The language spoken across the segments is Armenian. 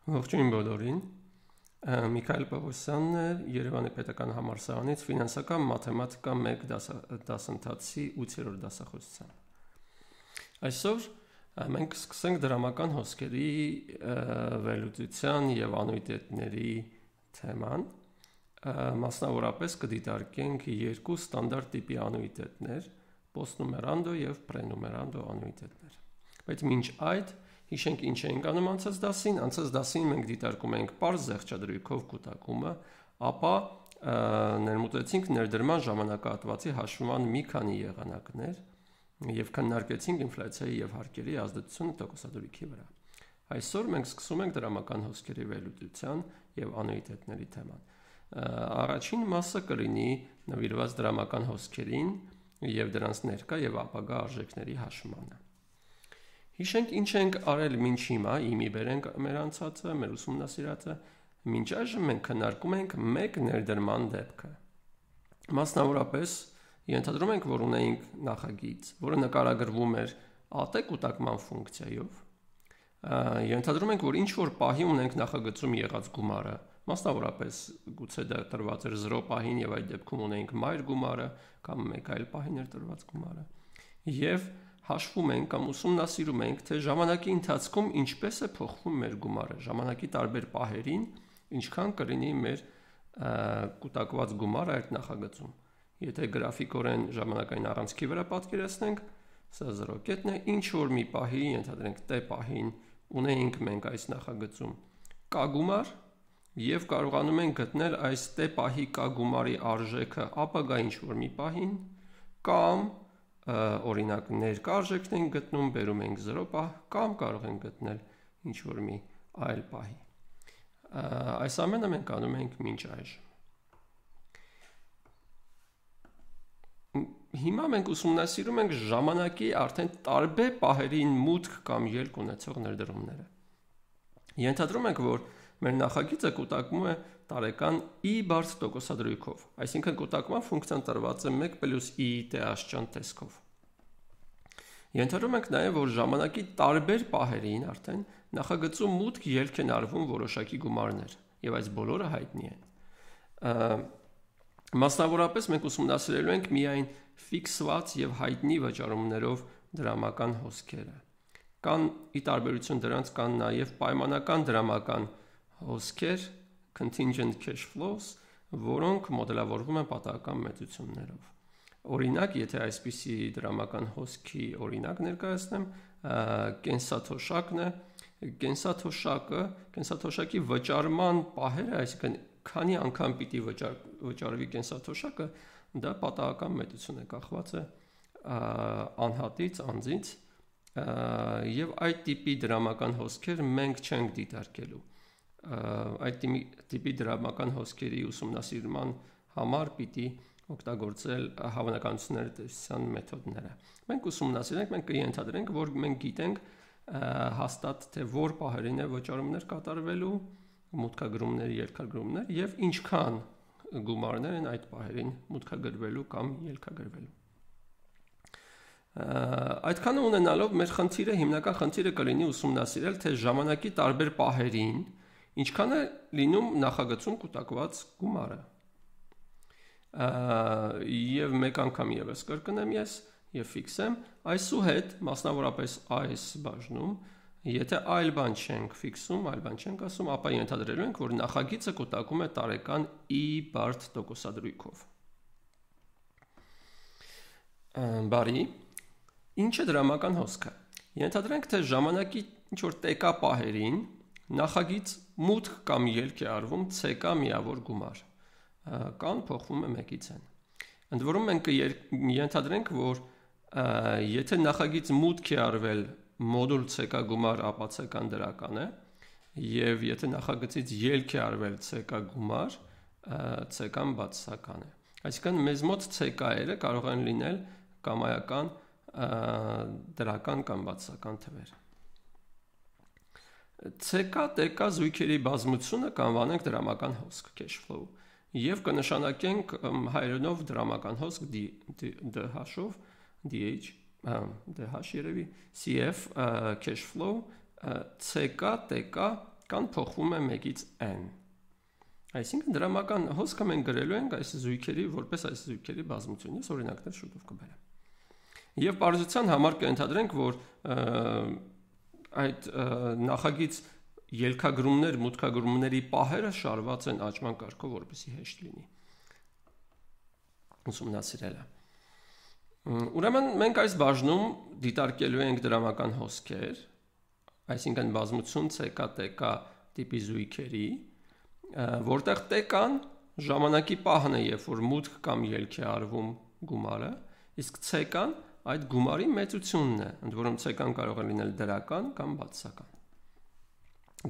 Ողջույն բոլորին, Միքայել Պողոսյանն է, Երևանի պետական համալսարանից ֆինանսական մաթեմատիկա 1 դասընթացի 8-րդ դասախոսության։ Այսօր մենք սկսենք դրամական հոսքերի վերլուծության եւ անուիտետների թեման, մասնավորապես կդիտարկենք երկու ստանդարտ տիպի անուիտետներ, պոստնումերանդո եւ պրենումերանդո անուիտետներ։ Բայց մինչ այդ հիշենք ինչ ենք անում անցած դասին մենք դիտարկում ենք պարզ զեղչադրույքով կուտակումը, ապա ներմուծեցինք ներդրման ժամանակահատվածի հաշվման մի քանի եղանակներ եւ քննարկեցինք ինֆլյացիայի եւ հարկերի ազդեցությունը տոկոսադրույքի վրա։ Այսօր մենք սկսում ենք դրամական հոսքերի վերլուծության եւ անուիտետների թեման։ Առաջին մասը կլինի նվիրված դրամական հոսքերին եւ դրանց ներկա եւ ապագա արժեքների հաշվմանը։ Հիշենք ինչ ենք արել մինչ հիմա, իմի բերենք մեր անցածը, մեր ուսումնասիրածը, մինչ այժմ մենք քննարկում ենք մեկ ներդրման դեպքը։ Մասնավորապես ենթադրում ենք, որ ունենք նախագիծ, որը նկարագրվում էր ատ կուտակման ֆունկցիայով։ Ենթադրում ենք, որ ինչ որ պահի ունենք նախագծում եղած գումարը, մասնավորապես գուցե դա տրված էր 0 պահին եւ այդ դեպքում ունենք մայր գումարը կամ մեկ այլ պահին էր տրված գումարը։ Եվ հաշվում ենք կամ ուսումնասիրում ենք, թե ժամանակի ընթացքում ինչպես է փոխվում մեր գումարը, ժամանակի տարբեր պահերին ինչքան կլինի մեր կուտակված գումարը այդ նախագծում։ Եթե գրաֆիկորեն ժամանակային առանցքի վրա պատկերացնենք, սա 0 կետն է, ինչ որ մի պահի, ենթադրենք T պահին ունենք մենք այս նախագծում K գումար եւ կարողանում ենք գտնել այս T պահի K գումարի արժեքը ապագա ինչ որ մի պահին կամ օրինակ ներկա արժեքն ենք գտնում, բերում ենք 0 պահ կամ կարող ենք գտնել ինչ որ մի այլ պահի։ Այս ամենը մենք անում ենք մինչ այժմ։ Հիմա մենք ուսումնասիրում ենք ժամանակի արդեն տարբեր պահերին մուտք կամ ելք ունեցող ներդրումները։ Ենթադրում ենք, որ մեր նախագիծը կուտակվում է տարեկան i բարձր տոկոսադրույքով, այսինքն կուտակման ֆունկցիան տրված է 1 + i TH տեսքով։ Ենթադրում ենք նաև, որ ժամանակի տարբեր պահերին արդեն նախագծում մուտք ելք են արվում որոշակի գումարներ, եւ այս բոլորը հայտնի են։ Մասնավորապես մենք ուսումնասիրելու ենք միայն ֆիքսված եւ հայտնի վճարումներով դրամական հոսքերը։ Կան ի տարբերություն դրանց կան նաև պայմանական դրամական հոսքեր, contingent cash flows, որոնք մոդելավորվում են պատահական մեծություններով։ Օրինակ, եթե այսպիսի դրամական հոսքի օրինակ ներկայացնեմ, կենսաթոշակն է, կենսաթոշակի վճարման պահերը, այսինքն քանի անգամ պիտի վճարվի կենսաթոշակը, դա պատահական մեծություն է, կախված է անհատից, անձից, եւ այդ տիպի դրամական հոսքեր մենք չենք դիտարկելու։ Այդ տիպի դրամական հոսքերի ուսումնասիրման համար պիտի օգտագործել հավանականությունների տեսության մեթոդները։ Մենք ուսումնասիրենք, մենք կենթադրենք, որ մենք գիտենք հաստատ թե որ պահերին է վճարումներ կատարվելու, մուտքագրումներ, ելքագրումներ եւ ինչքան գումարներ են այդ պահերին մուտքագրվելու կամ ելքագրվելու։ Այդքանը ունենալով մեր խնդիրը, հիմնական խնդիրը կլինի ուսումնասիրել, թե ժամանակի տարբեր պահերին ինչքան է լինում նախագծում կուտակված գումարը։ Եվ մեկ անգամ եւս կրկնեմ ես եւ ֆիքսեմ, այսուհետ մասնավորապես այս բաժնում, եթե այլ բան չենք ֆիքսում, այլ բան չենք ասում, ապա ենթադրելու ենք, որ նախագիծը կուտակում է տարեկան i բարդ տոկոսադրույքով։ Բարի, ինչ է դրամական հոսքը։ Ենթադրենք, թե ժամանակի ինչ որ տեկա պահերին նախագիծ մուտք կամ ելք է արվում ցեկա միավոր գումար, կան փոխվում է 1-ից n։ Ընդ որում մենք ենթադրենք, որ եթե նախագիծ մուտք է արվել մոդուլ ցեկա գումար, ապա ցեկան դրական է, եւ եթե նախագծից ելք է արվել ցեկա գումար, ցեկան բացասական է։ Այսինքն մեզ մոտ ցեկաերը կարող են լինել կամայական, դրական կամ բացասական թվեր։ Ցեկա տեկա զույգերի բազմությունը կանվանենք դրամական հոսք cash flow եւ կնշանակենք հայերենով դրամական հոսք DH-ով DH DH երևի CF cash flow CK TK կան փոխվում է 1-ից n։ Այսինքն դրամական հոսքը մենք գրելու ենք այս զույգերի որպես այս զույգերի բազմություն։ Ես օրինակներ շուտով կբերեմ։ Եվ բարձրության համար կընտրենք, որ այդ նախագիծ ելքագրումներ, մուտքագրումների պահերը շարված են աճման կարգով, որպեսզի հեշտ լինի ուսումնասիրելը։ Ուրեմն մենք այս բաժնում դիտարկելու ենք դրամական հոսքեր, այսինքն բազմություն CK-TK տիպի զույգերի, որտեղ TK-ն ժամանակի պահն է, երբ որ մուտք կամ ելք է արվում գումարը, իսկ CK-ն այդ գումարի մեծությունն է, ընդ որում CK-ն կարող է լինել դրական կամ բացասական։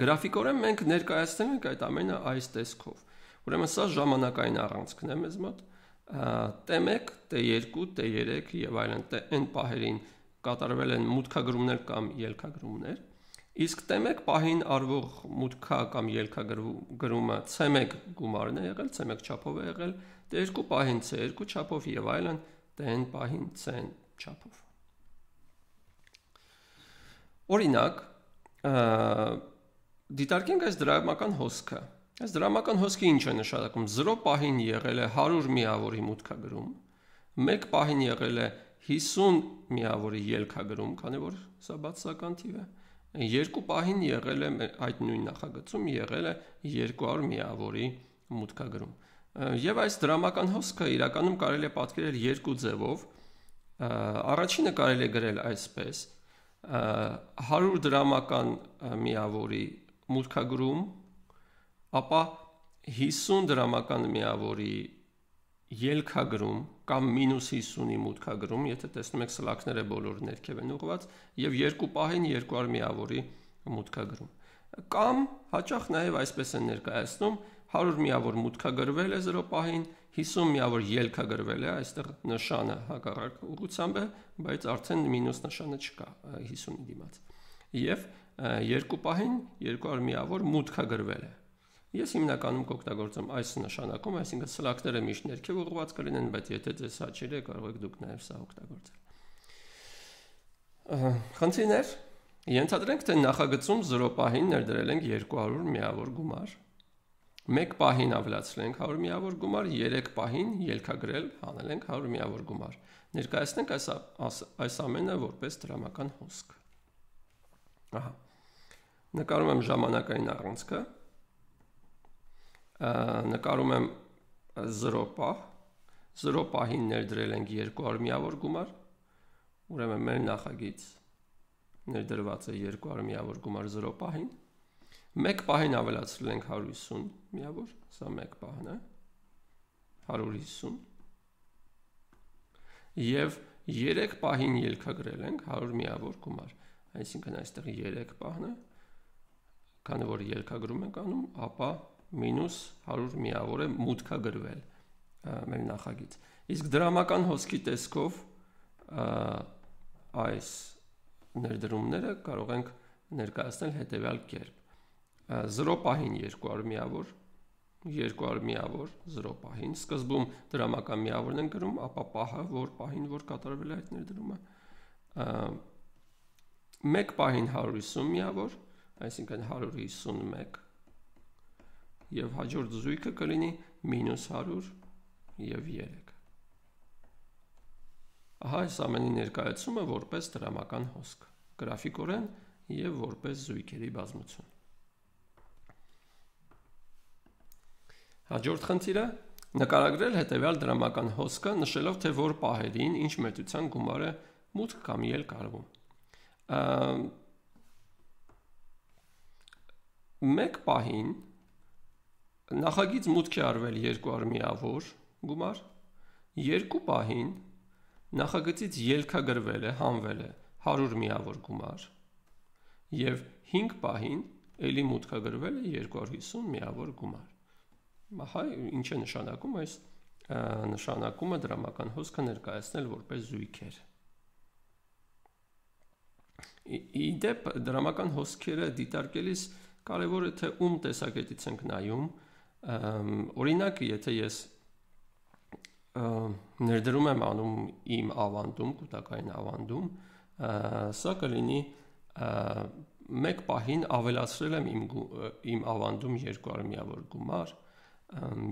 Գրաֆիկորեն մենք ներկայացնում ենք այդ ամենը այս տեսքով։ Ուրեմն սա ժամանակային առանցքն է մեզ մոտ, T1, T2, T3 եւ այլն n պահերին կատարվել են մուտքագրումներ կամ ելքագրումներ, իսկ T1 պահին արվող մուտքա կամ ելքագրումը C1 գումարն է եղել, C1 չափով է եղել, T2 պահին C2 չափով եւ այլն, Tn պահին Cn չափով։ Օրինակ, դիտարկենք այս դրամական հոսքը։ Այս դրամական հոսքը ինչ է նշանակում։ 0 պահին եղել է 100 միավորի մուտքագրում, 1 պահին եղել է 50 միավորի ելքագրում, քանի որ սա բացասական թիվ է, 2 պահին եղել է այդ նույն նախագծում եղել է 200 միավորի մուտքագրում։ Եվ այս դրամական հոսքը իրականում կարելի է պատկերել երկու ձևով։ Առաջինը կարելի է գրել այսպես. 100 դրամական միավորի մուտքագրում, ապա 50 դրամական միավորի ելքագրում կամ -50-ի մուտքագրում, եթե տեսնում եք սլաքները բոլոր ներքև են ուղղված, եւ 2 պահին 200 միավորի մուտքագրում։ Կամ հաճախ նաեւ այսպես են ներկայացնում 100 միավոր մուտքագրվել է 0 պահին, 50 միավոր ելքագրվել է, այստեղ նշանը հակառակ ուղղությամբ է, բայց արդեն մինուս նշանը չկա 50-ի դիմաց։ Եվ 2 պահին 200 միավոր մուտքագրվել է։ Ես հիմնականում կօգտագործեմ այս նշանակում, այսինքն սլաքները միշտ ներքև ուղղված կլինեն, բայց եթե ձեզ հաճելի է, կարող եք դուք նաև սա օգտագործել։ Խնդիրներ։ Ենթադրենք, թե նախագծում 0 պահին ներդրել ենք 200 միավոր գումար, 1 պահին ավելացրել ենք 100 միավոր գումար, 3 պահին ելքագրել հանել ենք 100 միավոր գումար։ Ներկայացնենք այս ամենը որպես դրամական հոսք։ Ահա։ Նկարում եմ ժամանակային առանցքը։ Նկարում եմ 0 պահ, 0 պահին ներդրել ենք 200 միավոր գումար, ուրեմն մեր նախագիծ ներդրված է 200 միավոր գումար 0 պահին, 1 պահին ավելացրել ենք 150 միավոր, սա 1 պահն է, 150, և 3 պահին ելքագրել ենք 100 միավոր գումար, այսինքն այստեղ 3 պահն է, քանի որ ելքագրում ենք անում, ապա մինուս 100 միավոր է մուտքագրվել մեր նախագիծ։ Իսկ դրամական հոսքի տեսքով այս ներդրումները կարող ենք ներկայացնել հետևյալ կերպ։ 0 պահին 200 միավոր, 200 միավոր 0 պահին, սկզբում դրամական միավորն են գրում, ապա պահը, որ պահին որ կատարվել է այդ ներդրումը, 1 պահին 150 միավոր, այսինքն 151, և հաջորդ զույգը կլինի մինուս 100 և 3։ Ահա այս ամենի ներկայացումը որպես դրամական հոսք, գրաֆիկորեն և որպես զույգերի բազմություն։ Հաջորդ խնդիրը նկարագրել հետևյալ դրամական հոսքը, նշելով, թե որ պահերին ինչ մեծության գումար է մուտք կամ ելք արվում։ Մեկ պահին նախագիծ մուտք է արվել 200 միավոր գումար, 2 պահին նախագծից ելքագրվել է, հանվել է 100 միավոր գումար, և 5 պահին էլի մուտքագրվել է 250 միավոր գումար։ Ահա ինչ է նշանակում այս նշանակումը դրամական հոսքը ներկայացնել որպես զույգեր։ Ի դեպ դրամական հոսքերը դիտարկելիս կարևոր է թե ում տեսակետից ենք նայում, օրինակ եթե ես ներդրում եմ անում իմ ավանդում, կուտակային ավանդում, սա կլինի մեկ պահին ավելացրել եմ իմ ավանդում 200 միավոր գումար,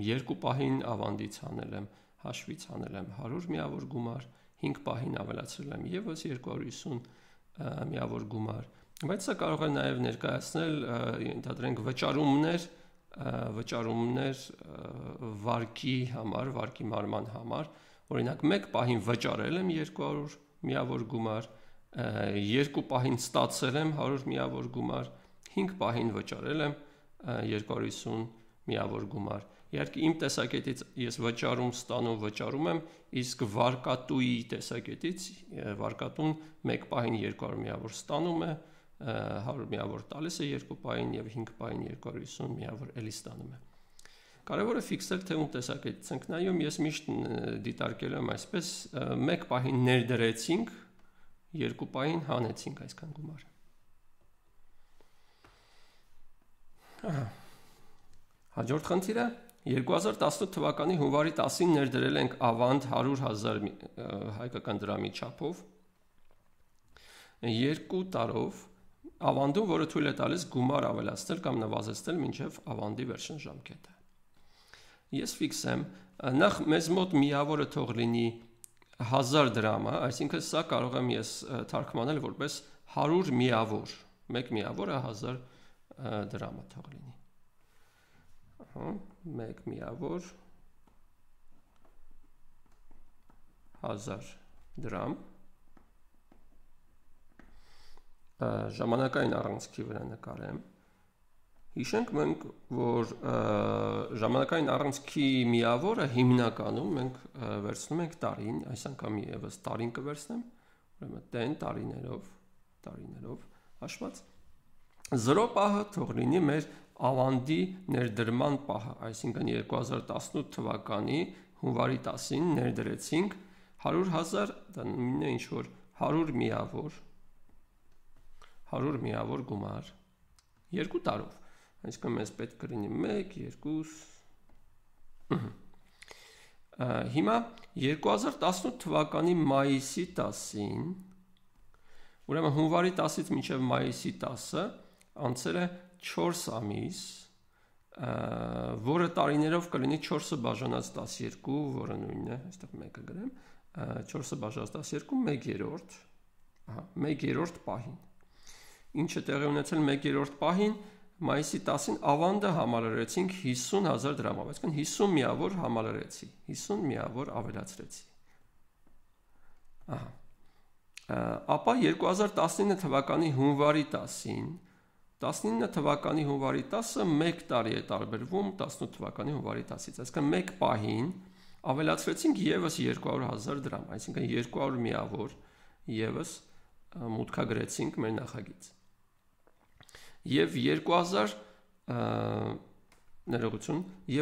երկու պահին ավանդից հանել եմ, հաշվից հանել եմ 100 միավոր գումար, 5 պահին ավելացրել եմ եւս 250 միավոր գումար, բայց սա կարող է նաև ներկայացնել, ընդհանրենք վճարումներ վարկի համար, վարկի մարման համար, օրինակ մեկ պահին վճարել եմ 200 միավոր գումար, երկու պահին ստացել եմ 100 միավոր գումար, 5 պահին վճարել եմ 250 միավոր գումար։ Իհարկե իմ տեսակետից ես վճարում եմ, իսկ վարկատուի տեսակետից վարկատուն մեկ պահին 200 միավոր ստանում է, 100 միավոր տալիս է երկու պահին եւ 5 պահին 250 միավոր էլի ստանում է։ Կարևորը ֆիքսել թե ում տեսակետից ենք նայում, ես միշտ դիտարկել եմ այսպես, մեկ պահին ներդրեցինք, երկու պահին հանեցինք այսքան գումար։ Հաջորդ խնդիրը 2018 թվականի հունվարի 10-ին ներդրել ենք ավանդ 100,000 հայկական դրամի չափով 2 տարով ավանդում, որը թույլ է տալիս գումար ավելացնել կամ նվազեցնել մինչև ավանդի վերջին ժամկետը։ Ես ֆիքսեմ, նախ մեզ մոտ միավորը թող լինի 1000 դրամը, այսինքն սա կարող եմ ես թարգմանել որպես 100 միավոր, մեկ միավորը 1000 դրամը թող լինի։ Մեկ միավոր 1000 դրամ ժամանակային առանցքի վրա նկարեմ։ Հիշենք մենք, որ ժամանակային առանցքի միավորը հիմնականում մենք վերցնում ենք տարին, այս անգամ եւս տարին կվերցնեմ, ուրեմն 10 տարիներով հաշված 0 պահը թող լինի մեր ավանդի ներդրման պահը, այսինքն 2018 թվականի հունվարի 10-ին ներդրեցինք 100,000, դա նույնն է ինչ որ 100 միավոր գումար 2 տարով, այսինքն մեզ պետք կլինի 1, 2 Հիմա 2018 թվականի մայիսի 10-ին, ուրեմն հունվարի 10-ից մինչև մայիսի 10-ը անցել է 4 ամիս, որը տարիներով կլինի 4-ը բաժանած 12, որը նույնն է, այստեղ 1-ը գրեմ, 4-ը բաժանած 12, 1/3 պահին։ Ինչը տեղի ունեցել 1/3 պահին, մայիսի 10-ին ավանդը համալրեցինք 50,000 դրամով, այսինքն 50 միավոր համալրեցի, 50 միավոր ավելացրեցի։ Ապա 2019 թվականի հունվարի 10-ին 19 թվականի հունվարի 10-ը 1 տարի է տարբերվում 18 թվականի հունվարի 10-ից, այսինքն մեկ պահին ավելացրեցինք եւս 200,000 դրամ, այսինքն 200 միավոր եւս մուտքագրեցինք մեր նախագիծ։ Եվ 2000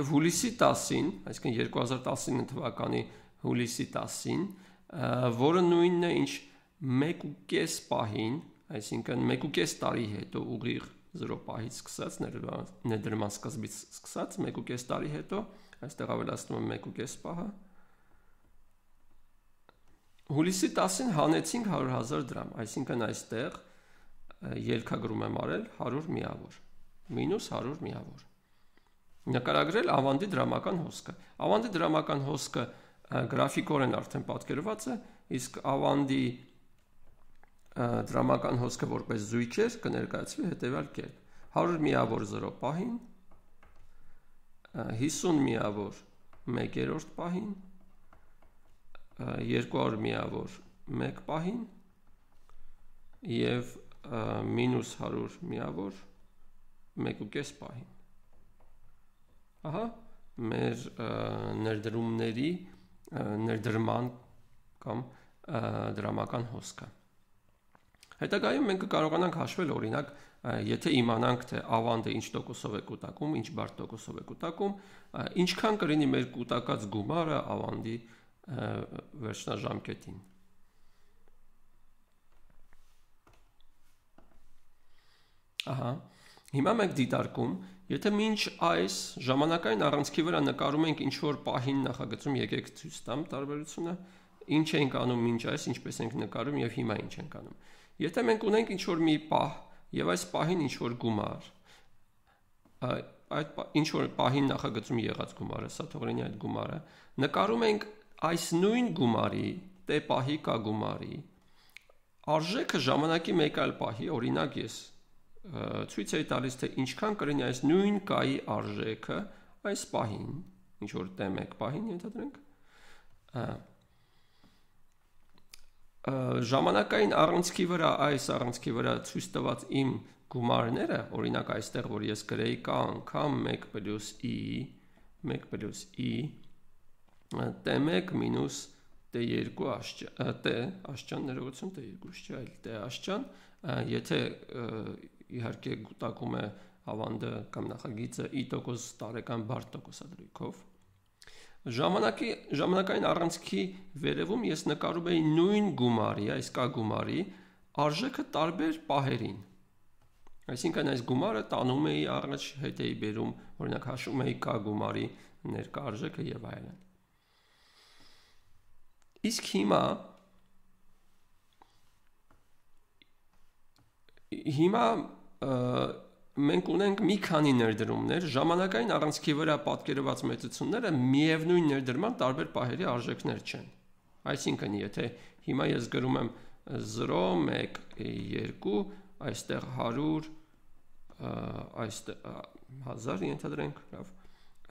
հուլիսի 10-ին, այսինքն 2019 թվականի հուլիսի 10-ին, որը նույնն է ինչ 1.5 պահին, այսինքն 1.5 տարի հետո ուղիղ 0 պահից սկսած, ներդրման սկզբից սկսած, 1.5 տարի հետո, այստեղ ավելացնում եմ 1.5 պահը, հուլիսի 10-ին հանեցինք 100,000 դրամ, այսինքն այստեղ ելքագրում եմ արել 100 միավոր, մինուս 100 միավոր։ Նկարագրել ավանդի դրամական հոսքը։ Ավանդի դրամական հոսքը գրաֆիկորեն արդեն պատկերված է, իսկ ավանդի դրամական հոսքը որպես զույգեր կներկայացվի հետևյալ կերպ. 100 միավոր 0 պահին, 50 միավոր 1/3 պահին, 200 միավոր 1 պահին եւ մինուս 100 միավոր 1.5 պահին։ Ահա մեր ներդրումների ներդրման կամ դրամական հոսքը։ Հետագայում մենք կարողանանք հաշվել, օրինակ, եթե իմանանք, թե ավանդը ինչ տոկոսով է կուտակում, ինչ բարդ տոկոսով է կուտակում, ինչքան կլինի մեր կուտակած գումարը ավանդի վերջնաժամկետին։ Ահա, հիմա մենք դիտարկում, եթե մինչ այս ժամանակային առանցքի վրա նկարում ենք ինչ-որ պահին նախագծում, եկեք ցույց տամ տարբերությունը, ինչ ենք անում մինչ այս, ինչպես ենք նկարում եւ հիմա ինչ ենք անում։ Եթե մենք ունենք ինչ-որ մի պահ, եւ այս պահին ինչ որ գումար, այդ ինչ որ պահին նախագծում եղած գումարը, սա թողնի այդ գումարը, նկարում ենք այս նույն գումարի, տե պահի կա գումարի արժեքը ժամանակի մեկ այլ պահի, օրինակ ես ցույց էի տալիս, թե ինչքան կլինի այս նույն կայի արժեքը այս պահին, ինչ որ տե մեկ պահին ենթադրենք, ժամանակային առանցքի վրա, այս առանցքի վրա ցույց տված իմ գումարները, օրինակ այստեղ, որ ես գրեի կա անգամ 1 + i t1 մինուս t2 աշճան, ներողություն, t2 չէ, այլ t աշճան, եթե իհարկե գուտակում է ավանդը կամ նախագիծը i% տարեկան բարդ տոկոսադրույքով, ժամանակային առանցքի վերևում ես նկարում էի նույն գումարի, այս կա գումարի արժեքը տարբեր պահերին, այսինքն այս գումարը տանում էի առաջ, հետ էի բերում, օրինակ հաշվում էի կա գումարի ներկա արժեքը եւ այլն։ Իսկ հիմա մենք ունենք մի քանի ներդրումներ, ժամանակային առանցքի վրա պատկերված մեծությունները միևնույն ներդրման տարբեր պահերի արժեքներ չեն։ Այսինքն, եթե հիմա ես գրում եմ 0, 1, 2, այստեղ 100, այստեղ 1000 ենթադրենք, լավ,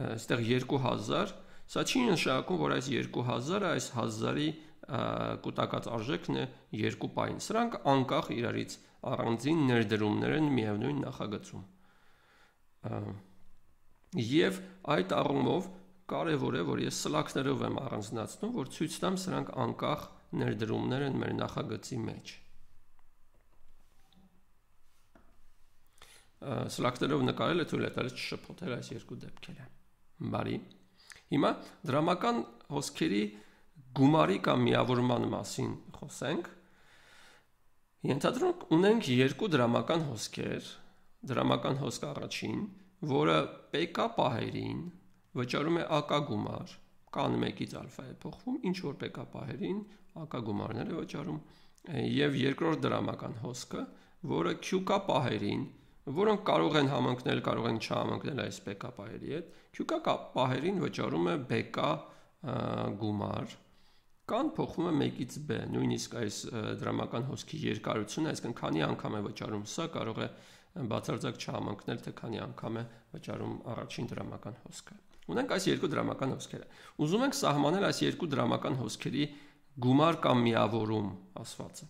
այստեղ 2000, սա չի նշանակում, որ այս 2000-ը այս 1000-ի կուտակած արժեքն է 2 պահին։ Սրանք անկախ իրարից առանձին ներդրումներ են միևնույն նախագծում։ Եվ այդ առումով կարևոր է, որ ես սլաքներով եմ առանձնացնում, որ ցույց տամ սրանք անկախ ներդրումներ են մեր նախագծի մեջ։ Սլաքներով նկարելը թույլ է տալիս չշփոթել այս երկու դեպքերը։ Բարի։ Հիմա դրամական հոսքերի գումարի կամ միավորման մասին խոսենք։ Ենթադրենք ունենք երկու դրամական հոսքեր, դրամական հոսք առաջին, որը PK պահերին վճարում է AK գումար, կան 1-ից ալֆա է փոխվում, ինչ որ PK պահերին AK գումարներ է վճարում, եւ երկրորդ դրամական հոսքը, որը QK պահերին, որոնք կարող են համընկնել, կարող են չհամընկնել այս PK պահերի հետ, QK պահերին վճարում է BK գումար, կան փոխվում է 1-ից b, նույնիսկ այս դրամական հոսքի երկարությունը, այսինքն քանի անգամ է վճարում սա, կարող է բացարձակ չհամընկնել, թե քանի անգամ է վճարում առաջին դրամական հոսքը։ Ունենք այս երկու դրամական հոսքերը։ Ուզում ենք սահմանել այս երկու դրամական հոսքերի գումար կամ միավորում ասվածը։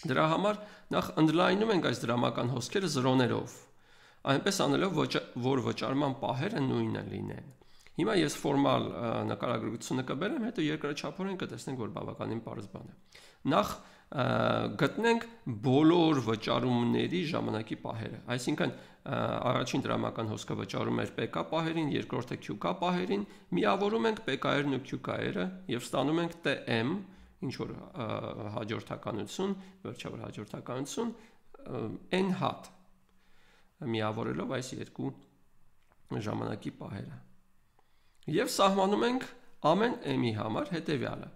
Դրա համար նախ ընդլայնում ենք այս դրամական հոսքերը զրոներով, այնպես անելով, որ վճարման պահերը նույնը լինեն։ Հիմա ես ֆորմալ նկարագրությունը կբերեմ, հետո երկրաչափորեն կտեսնենք, որ բավականին պարզ բան է։ Նախ գտնենք բոլոր վճարումների ժամանակի պահերը, այսինքն առաջին դրամական հոսքը վճարում էր PK պահերին, երկրորդը QK պահերին, միավորում ենք PK-երն ու QK-երը եւ ստանում ենք TM, ինչ որ հաջորդականություն, վերջավոր հաջորդականություն n հատ միավորելով այս երկու ժամանակի պահերը։ Եվ սահմանում ենք ամեն m-ի համար հետևյալը։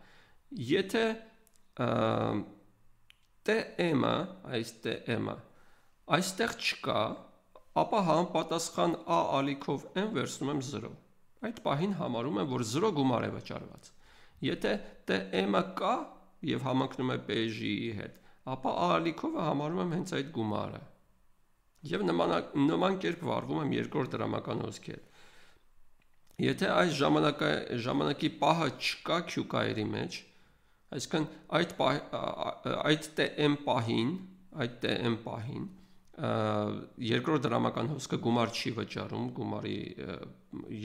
Եթե tm-ը, այս tm-ը այստեղ չկա, ապա համապատասխան a ալիքով m վերցնում եմ 0։ Այդ պահին համարում եմ, որ 0 գումար է վճարված։ Եթե tm-ը կա եւ համընկնում է PJ-ի հետ, ապա a ալիքովը համարում եմ հենց այդ գումարը։ Եվ նման կերպ վարվում եմ երկրորդ դրամական հոսքի հետ։ Եթե այս ժամանակի պահը չկա QK-երի մեջ, այսինքն այդ TM պահին, երկրորդ դրամական հոսքը գումար չի վճարում, գումարի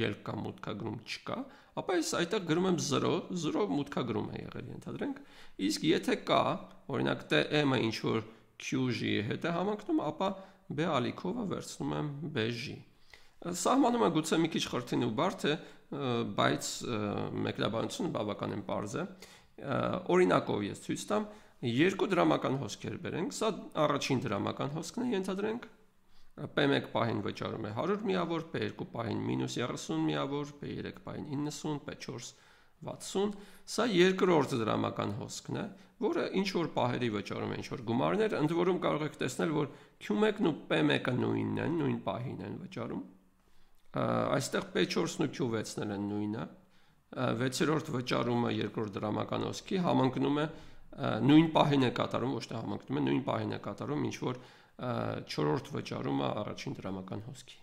ելք կամ մուտքագրում չկա, ապա ես այդտեղ գրում եմ 0, 0 մուտքագրում է եղել, ենթադրենք, իսկ եթե կա, օրինակ TM-ը ինչ որ QJ-ի հետ է համընկնում, ապա B ալիքովը վերցնում եմ BJ։ Սահմանում է գուցե մի քիչ խրթին ու բարդ է, բայց մեկնաբանությունը բավականին պարզ է։ Օրինակով ես ցույց տամ, երկու դրամական հոսքեր բերենք, սա առաջին դրամական հոսքն է, ենթադրենք, P1 պահին վճարում է 100 միավոր, P2 պահին -30 միավոր, P3 պահին 90, P4 60, սա երկրորդ դրամական հոսքն է, որը ինչ որ պահերի վճարում է ինչ որ գումարներ, ընդ որում կարող եք տեսնել, որ Q1-ն ու P1-ը նույնն են, նույն պահին են վճարում։ Այստեղ P4-ն ու Q6-ն են նույնը։ 6-րդ վճարումը երկրորդ դրամական հոսքի համընկնում է նույն պահին է կատարում, ոչ թե համընկնում է, նույն պահին է կատարում, ինչ որ 4-րդ վճարումը առաջին դրամական հոսքի։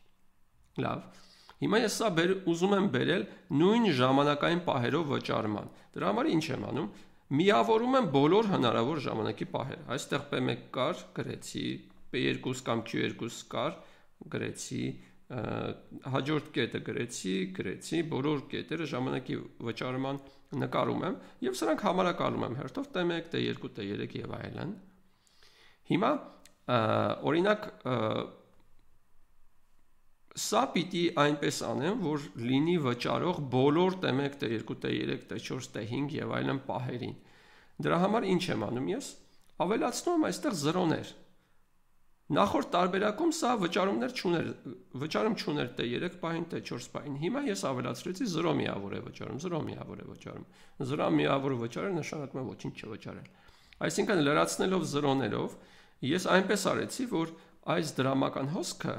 Լավ։ Հիմա ես սա ուզում եմ բերել նույն ժամանակային պահերով վճարման։ Դրա համար ինչ եմ անում։ Միավորում եմ բոլոր հնարավոր ժամանակի պահերը։ Այստեղ P1 կար, գրեցի, P2 կամ Q2 կար, գրեցի, հաջորդ կետը գրեցի, բոլոր կետերը ժամանակի վճարման նկարում եմ եւ սրանք համարակալում եմ հերթով T1, T2, T3 եւ այլն։ Հիմա օրինակ սա պիտի այնպես անեմ, որ լինի վճարող բոլոր T1, T2, T3, T4, T5 եւ այլն պահերին։ Դրա համար ինչ եմ անում ես։ Ավելացնում եմ այստեղ 0-ներ։ Նախորդ տարբերակում սա վճարում չուներ T3 պահին, T4 պահին։ Հիմա ես ավելացրեցի 0 միավոր է վճարում, 0 միավոր է վճարում։ 0 միավորը վճարել նշանակում է ոչինչ չվճարել։ Այսինքն լրացնելով 0-ներով ես այնպես արեցի, որ այս դրամական հոսքը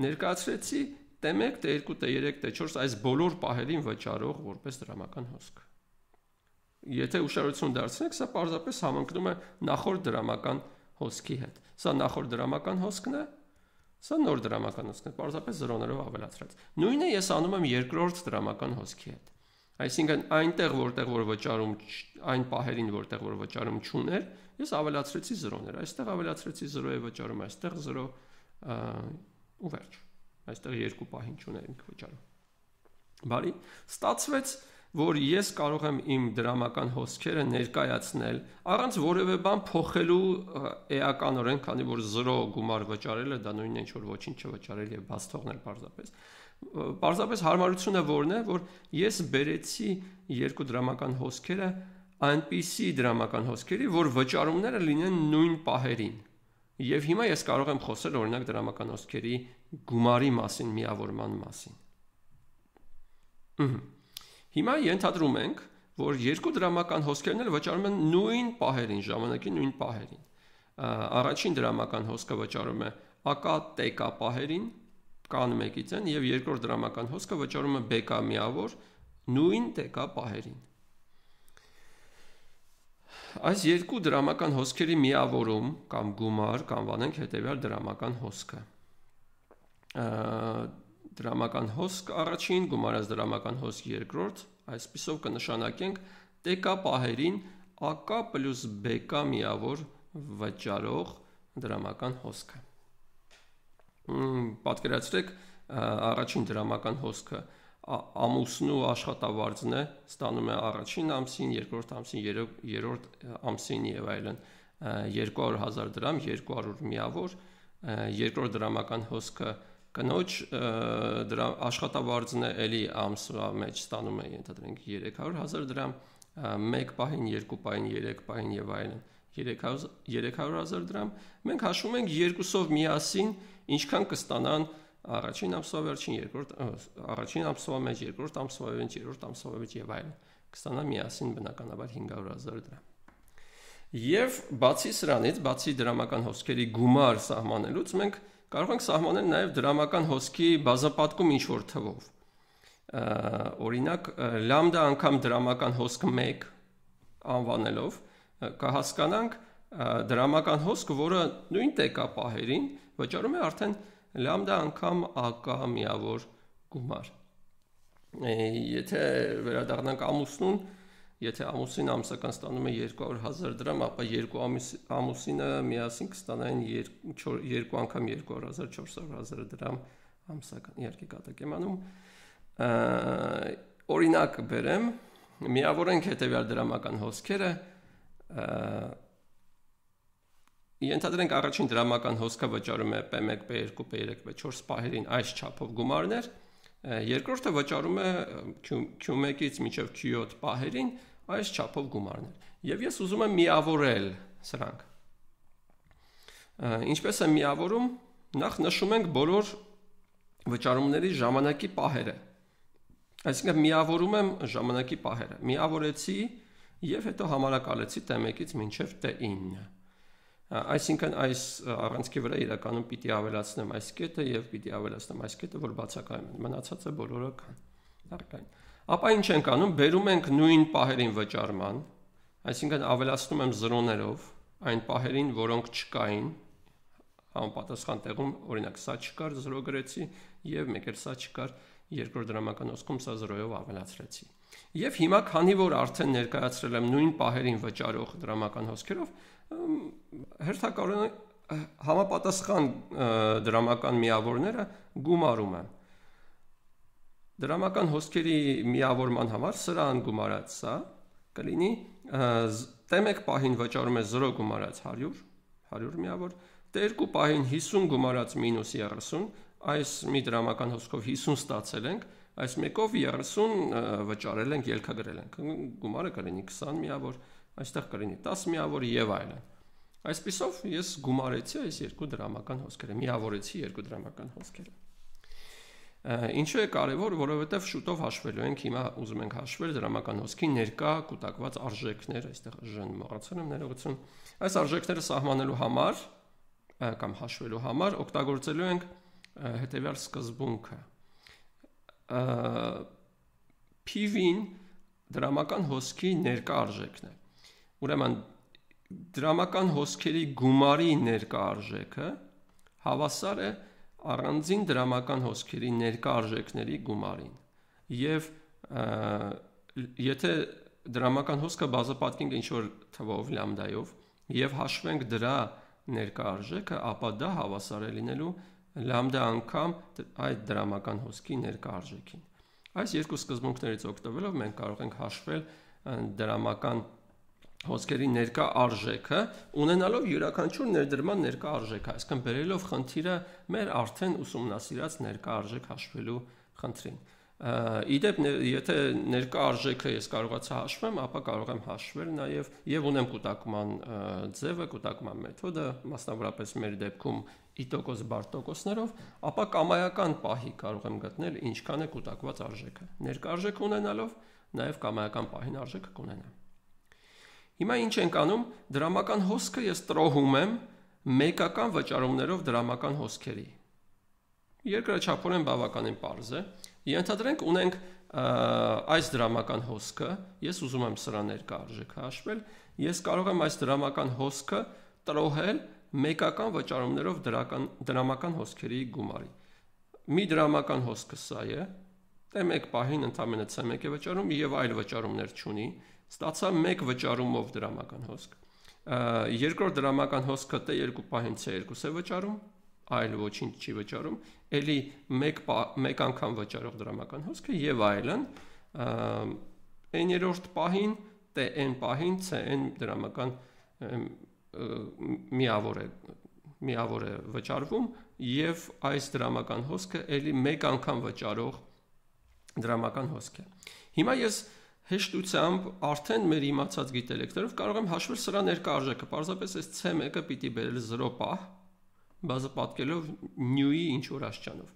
ներկայացրեցի T1, T2, T3, T4 այս բոլոր պահերին վճարող որպես դրամական հոսք։ Եթե ուշադրություն դարձնեք, սա պարզապես համընկնում է նախորդ դրամական հոսքի հետ։ Սա նախորդ դրամական հոսքն է, սա նոր դրամական հոսքն է, պարզապես 0-ներով ավելացրած։ Նույնը ես անում եմ երկրորդ դրամական հոսքի հետ։ Այսինքն այնտեղ որտեղ որ վճարում այն պահերին որտեղ որ վճարում չուներ, ես ավելացրեցի 0-ներ։ Այստեղ ավելացրեցի 0 է վճարում, այստեղ 0 ու վերջ։ Այստեղ երկու պահին չունենք վճարում։ Բարի, ստացվեց, որ ես կարող եմ իմ դրամական հոսքերը ներկայացնել առանց որևէ բան փոխելու էականորեն, քանի որ 0 գումար վճարելը դա նույնն է ինչ որ ոչինչ չվճարել եւ բաց թողնել պարզապես։ Պարզապես հարմարությունը որն է, որ ես բերեցի երկու դրամական հոսքերը այնպիսի դրամական հոսքերի, որ վճարումները լինեն նույն պահերին։ Եվ հիմա ես կարող եմ խոսել օրինակ դրամական հոսքերի գումարի մասին, միավորման մասին։ Հիմա ենթադրում ենք, որ երկու դրամական հոսքերն էլ վճարում են նույն պահերին, ժամանակի նույն պահերին։ Առաջին դրամական հոսքը վճարում է AK TK պահերին, կան 1-ից են, եւ երկրորդ դրամական հոսքը վճարում է BK միավոր նույն TK պահերին։ Այս երկու դրամական հոսքերի միավորում կամ գումար կանվանենք հետևյալ դրամական հոսքը։ Դրամական հոսք առաջին, գումարած դրամական հոսք երկրորդ, այսպիսով կնշանակենք TK պահերին AK plus BK միավոր վճարող դրամական հոսքը։ Պատկերացրեք առաջին դրամական հոսքը ամուսնու աշխատավարձն է, ստանում է առաջին ամսին, երկրորդ ամսին, երրորդ ամսին եւ այլն 200,000 դրամ, 200 միավոր, երկրորդ դրամական հոսքը կնոջ աշխատավարձն է, էլի ամսվա մեջ ստանում է ենթադրենք 300,000 դրամ, 1 պահին, 2 պահին, 3 պահին եւ այլն 300,000 դրամ։ Մենք հաշվում ենք երկուսով միասին ինչքան կստանան առաջին ամսվա վերջին, առաջին ամսվա մեջ, երկրորդ ամսվա մեջ, երրորդ ամսվա մեջ եւ այլն կստանան միասին բնականաբար 500,000 դրամ։ Եվ բացի սրանից, բացի դրամական հոսքերի գումար սահմանելուց, մենք կարող ենք սահմանել նաև դրամական հոսքի բազապատկում ինչ-որ թվով։ Օրինակ, լամդա անգամ դրամական հոսք 1 անվանելով կհասկանանք դրամական հոսք, որը նույն TK պահերին վճարում է արդեն լամդա անգամ AK միավոր գումար։ Եթե վերադառնանք ամուսնուն, եթե ամուսին ամսական ստանում է 200,000 դրամ, ապա երկու ամուսինը միասին կստանային 2 անգամ 200,000, 400,000 դրամ ամսական, իհարկե կատակ եմ անում։ Օրինակ բերեմ, միավորենք հետևյալ դրամական հոսքերը, ենթադրենք առաջին դրամական հոսքը վճարում է P1, P2, P3, P4 պահերին այս չափով գումարներ, երկրորդը վճարում է Q1-ից մինչև Q7 պահերին այս չափով գումարներ։ Եվ ես ուզում եմ միավորել սրանք։ Ինչպես եմ միավորում, նախ նշում ենք բոլոր վճարումների ժամանակի պահերը։ Այսինքն միավորում եմ ժամանակի պահերը։ Միավորեցի եւ հետո համարակալեցի t1-ից մինչեւ t9։ Այսինքն այս առանցքի վրա իրականում պիտի ավելացնեմ այս կետը եւ պիտի ավելացնեմ այս կետը, որ բացակայում են։ Մնացածը բոլորը կան։ Ապա ինչ ենք անում, բերում ենք նույն պահերին վճարման, այսինքն ավելացնում եմ 0-ներով այն պահերին, որոնք չկային, համապատասխան տեղում, օրինակ սա չկար, 0 գրեցի եւ մեկ էլ սա չկար, երկրորդ դրամական հոսքում սա 0-ով ավելացրեցի։ Եվ հիմա քանի որ արդեն ներկայացրել եմ նույն պահերին վճարող դրամական հոսքերով, հերթական համապատասխան դրամական միավորները գումարում եմ։ Դրամական հոսքերի միավորման համար սրան գումարած սա կլինի t1 պահին վճարում է 0 գումարած 100 միավոր, t2 պահին 50 գումարած մինուս 30, այս մի դրամական հոսքով 50 ստացել ենք, այս մեկով 30 վճարել ենք, ելքագրել ենք, գումարը կլինի 20 միավոր, այստեղ կլինի 10 միավոր եւ այլն։ Այսպիսով ես գումարեցի այս երկու դրամական հոսքերը, միավորեցի երկու դրամական հոսքերը։ Ինչու է կարևոր, որովհետև շուտով հաշվելու ենք, հիմա ուզում ենք հաշվել դրամական հոսքի ներկա կուտակված արժեքներ, այստեղ Жն մոռացել եմ, ներողություն։ Այս արժեքները սահմանելու համար կամ հաշվելու համար օգտագործելու ենք հետևյալ սկզբունքը։ P-ին դրամական հոսքի ներկա արժեքն է։ Ուրեմն դրամական հոսքերի գումարի ներկա արժեքը հավասար է առանձին դրամական հոսքերի ներկա արժեքների գումարին։ Եվ եթե դրամական հոսքը բազմապատկենք ինչ-որ թվով լամդայով եւ հաշվենք դրա ներկա արժեքը, ապա դա հավասար է լինելու լամդա անգամ այդ դրամական հոսքի ներկա արժեքին։ Այս երկու սկզբունքներից օգտվելով մենք կարող ենք հաշվել դրամական հոսքերի ներկա արժեքը, ունենալով յուրաքանչյուր ներդրման ներկա արժեքը, այսինքն բերելով խնդիրը մեր արդեն ուսումնասիրած ներկա արժեք հաշվելու խնդրին։ Իդեպ եթե ներկա արժեքը ես կարողացա հաշվեմ, ապա կարող եմ հաշվել նաև եւ ունեմ կուտակման ձևը, կուտակման մեթոդը, մասնավորապես մեր դեպքում i% բար տոկոսներով, ապա կամայական պահի կարող եմ գտնել ինչքան է կուտակված արժեքը։ Ներկա արժեք ունենալով նաև կամայական պահին արժեքը կունենամ։ Հիմա ինչ ենք անում, դրամական հոսքը ես տրոհում եմ մեկական վճարումներով դրամական հոսքերի։ Երկրաչափորեն բավականին պարզ է։ Ենթադրենք ունենք այս դրամական հոսքը, ես ուզում եմ սրա ներկա արժեքը հաշվել, ես կարող եմ այս դրամական հոսքը տրոհել մեկական վճարումներով դրամական հոսքերի գումարի։ Մի դրամական հոսքը սա է, t1 պահին ընդամենը c1 է վճարում եւ այլ վճարումներ չունի, ստացա մեկ վճարումով դրամական հոսք։ Երկրորդ դրամական հոսքը t2 պահին c2 է վճարում, այլ ոչինչ չի վճարում, ելի մեկ անգամ վճարող դրամական հոսքը եւ այլն, n-րդ պահին tn պահին cn դրամական միավոր է վճարվում եւ այս դրամական հոսքը ելի մեկ անգամ վճարող դրամական հոսք է։ Հիմա ես հեշտությամբ արդեն մեր իմացած գիտելիքներով կարող եմ հաշվել սրա ներկա արժեքը, պարզապես այս c1-ը պիտի բերել 0 պահ, բազմապատկելով նյուի ինչ-որ աստիճանով,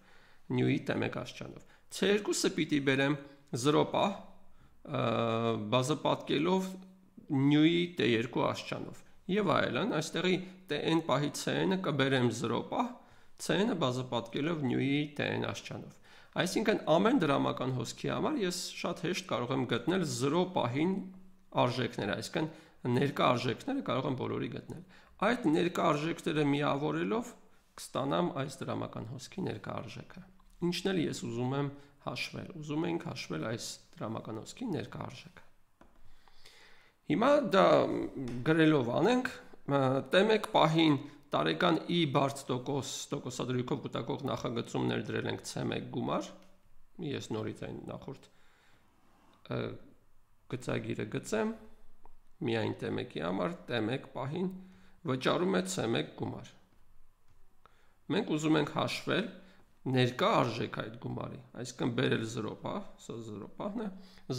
նյուի t1 աստիճանով։ C2-ը պիտի բերեմ 0 պահ, բազմապատկելով նյուի t2 աստիճանով։ Եվ այլն, այստեղի tn պահի cn-ը կբերեմ 0 պահ, cn-ը բազմապատկելով նյուի tn աստիճանով։ Այսինքն ամեն դրամական հոսքի համար ես շատ հեշտ կարող եմ գտնել 0 պահին արժեքները, այսինքն ներկա արժեքները կարող եմ բոլորի գտնել։ Այդ ներկա արժեքները միավորելով կստանամ այս դրամական հոսքի ներկա արժեքը։ Ինչն էլ ես ուզում եմ հաշվել, ուզում ենք հաշվել այս դրամական հոսքի ներկա արժեքը։ Հիմա դա գրելով անենք, t1 պահին տարեկան i բարդ տոկոսադրույքով կուտակող նախագծում ներդրել ենք c1 գումար, ես նորից այն նախորդ գծագիրը գծեմ, միայն t1-ի համար, t1 պահին վճարում է c1 գումար։ Մենք ուզում ենք հաշվել ներկա արժեք այդ գումարի, այսինքն բերել 0 պահ, սա 0 պահն է,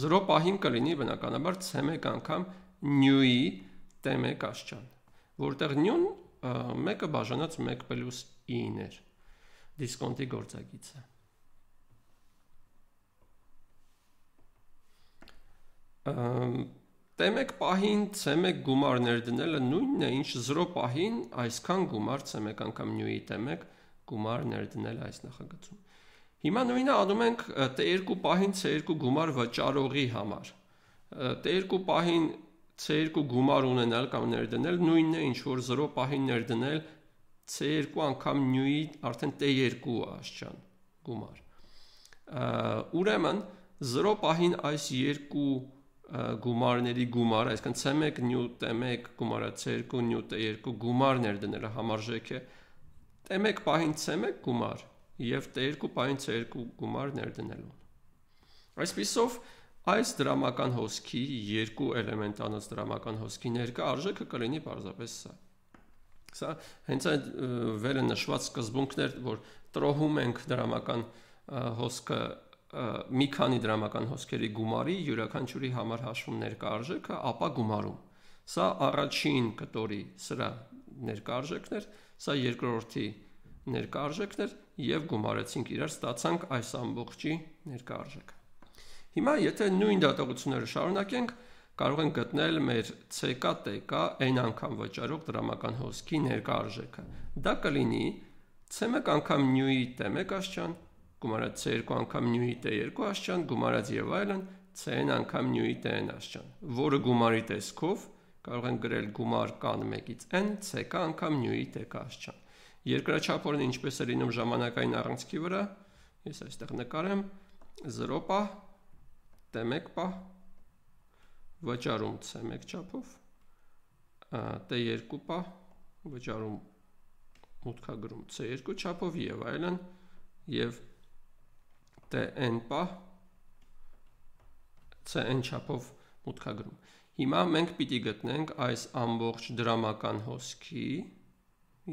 0 պահին կլինի բնականաբար c1 անգամ նյուի t1 աստիճան, որտեղ նյուն մեկը բաժանած 1 պլյուս i-ն էր, դիսկոնտի գործագիծը։ T1 պահին C1 գումար ներդնելը նույնն է, ինչ 0 պահին այսքան գումար C1 անգամ նյուի T1 գումար ներդնել այս նախագծում։ Հիմա նույնը անում ենք T2 պահին C2 գումար վճարողի համար։ T2 պահին C2 գումար ունենալ կամ ներդնել նույնն է, ինչ որ 0 պահին ներդնել C2 անգամ նյուի արդեն T2 աշճան գումար։ Ուրեմն 0 պահին այս երկու գումարների գումար, այսինքն C1 նյու T1 գումարը C2 նյու T2 գումար ներդնելը համարժեք է T1 պահին C1 գումար եւ T2 պահին C2 գումար ներդնելուն։ Այսպիսով այս դրամական հոսքի երկու էլեմենտանոց դրամական հոսքի ներկա արժեքը կլինի պարզապես սա։ Սա հենց այդ վերը նշված սկզբունքն էր, որ տրոհում ենք դրամական հոսքը մի քանի դրամական հոսքերի գումարի յուրաքանչյուրի համար հաշվում ներկա արժեքը, ապա գումարում։ Սա առաջին կտորի սրա ներկա արժեքն էր, սա երկրորդի ներկա արժեքն էր եւ գումարեցինք իրար, ստացանք այս ամբողջի ներկա արժեքը։ Հիմա եթե նույն դատողությունները շարունակենք, կարող ենք գտնել մեր CK TK n անգամ վճարող դրամական հոսքի ներկա արժեքը։ Դա կլինի C1 անգամ նյուի T1 աշճան, գումարած C2 անգամ նյուի T2 աշճան, գումարած եւ այլն Cn անգամ նյուի Tn աշճան, որը գումարի տեսքով կարող ենք գրել գումար կան 1-ից n CK անգամ նյուի TK աշճան։ Երկրաչափորեն ինչպես է լինում ժամանակային առանցքի վրա, ես այստեղ նկարեմ 0 պահ, T1 պահ, վճարում C1 չափով, T2 պահ, վճարում մուտքագրում C2 չափով եւ այլն, եւ Tn պահ, Cn չափով մուտքագրում։ Հիմա մենք պիտի գտնենք այս ամբողջ դրամական հոսքի,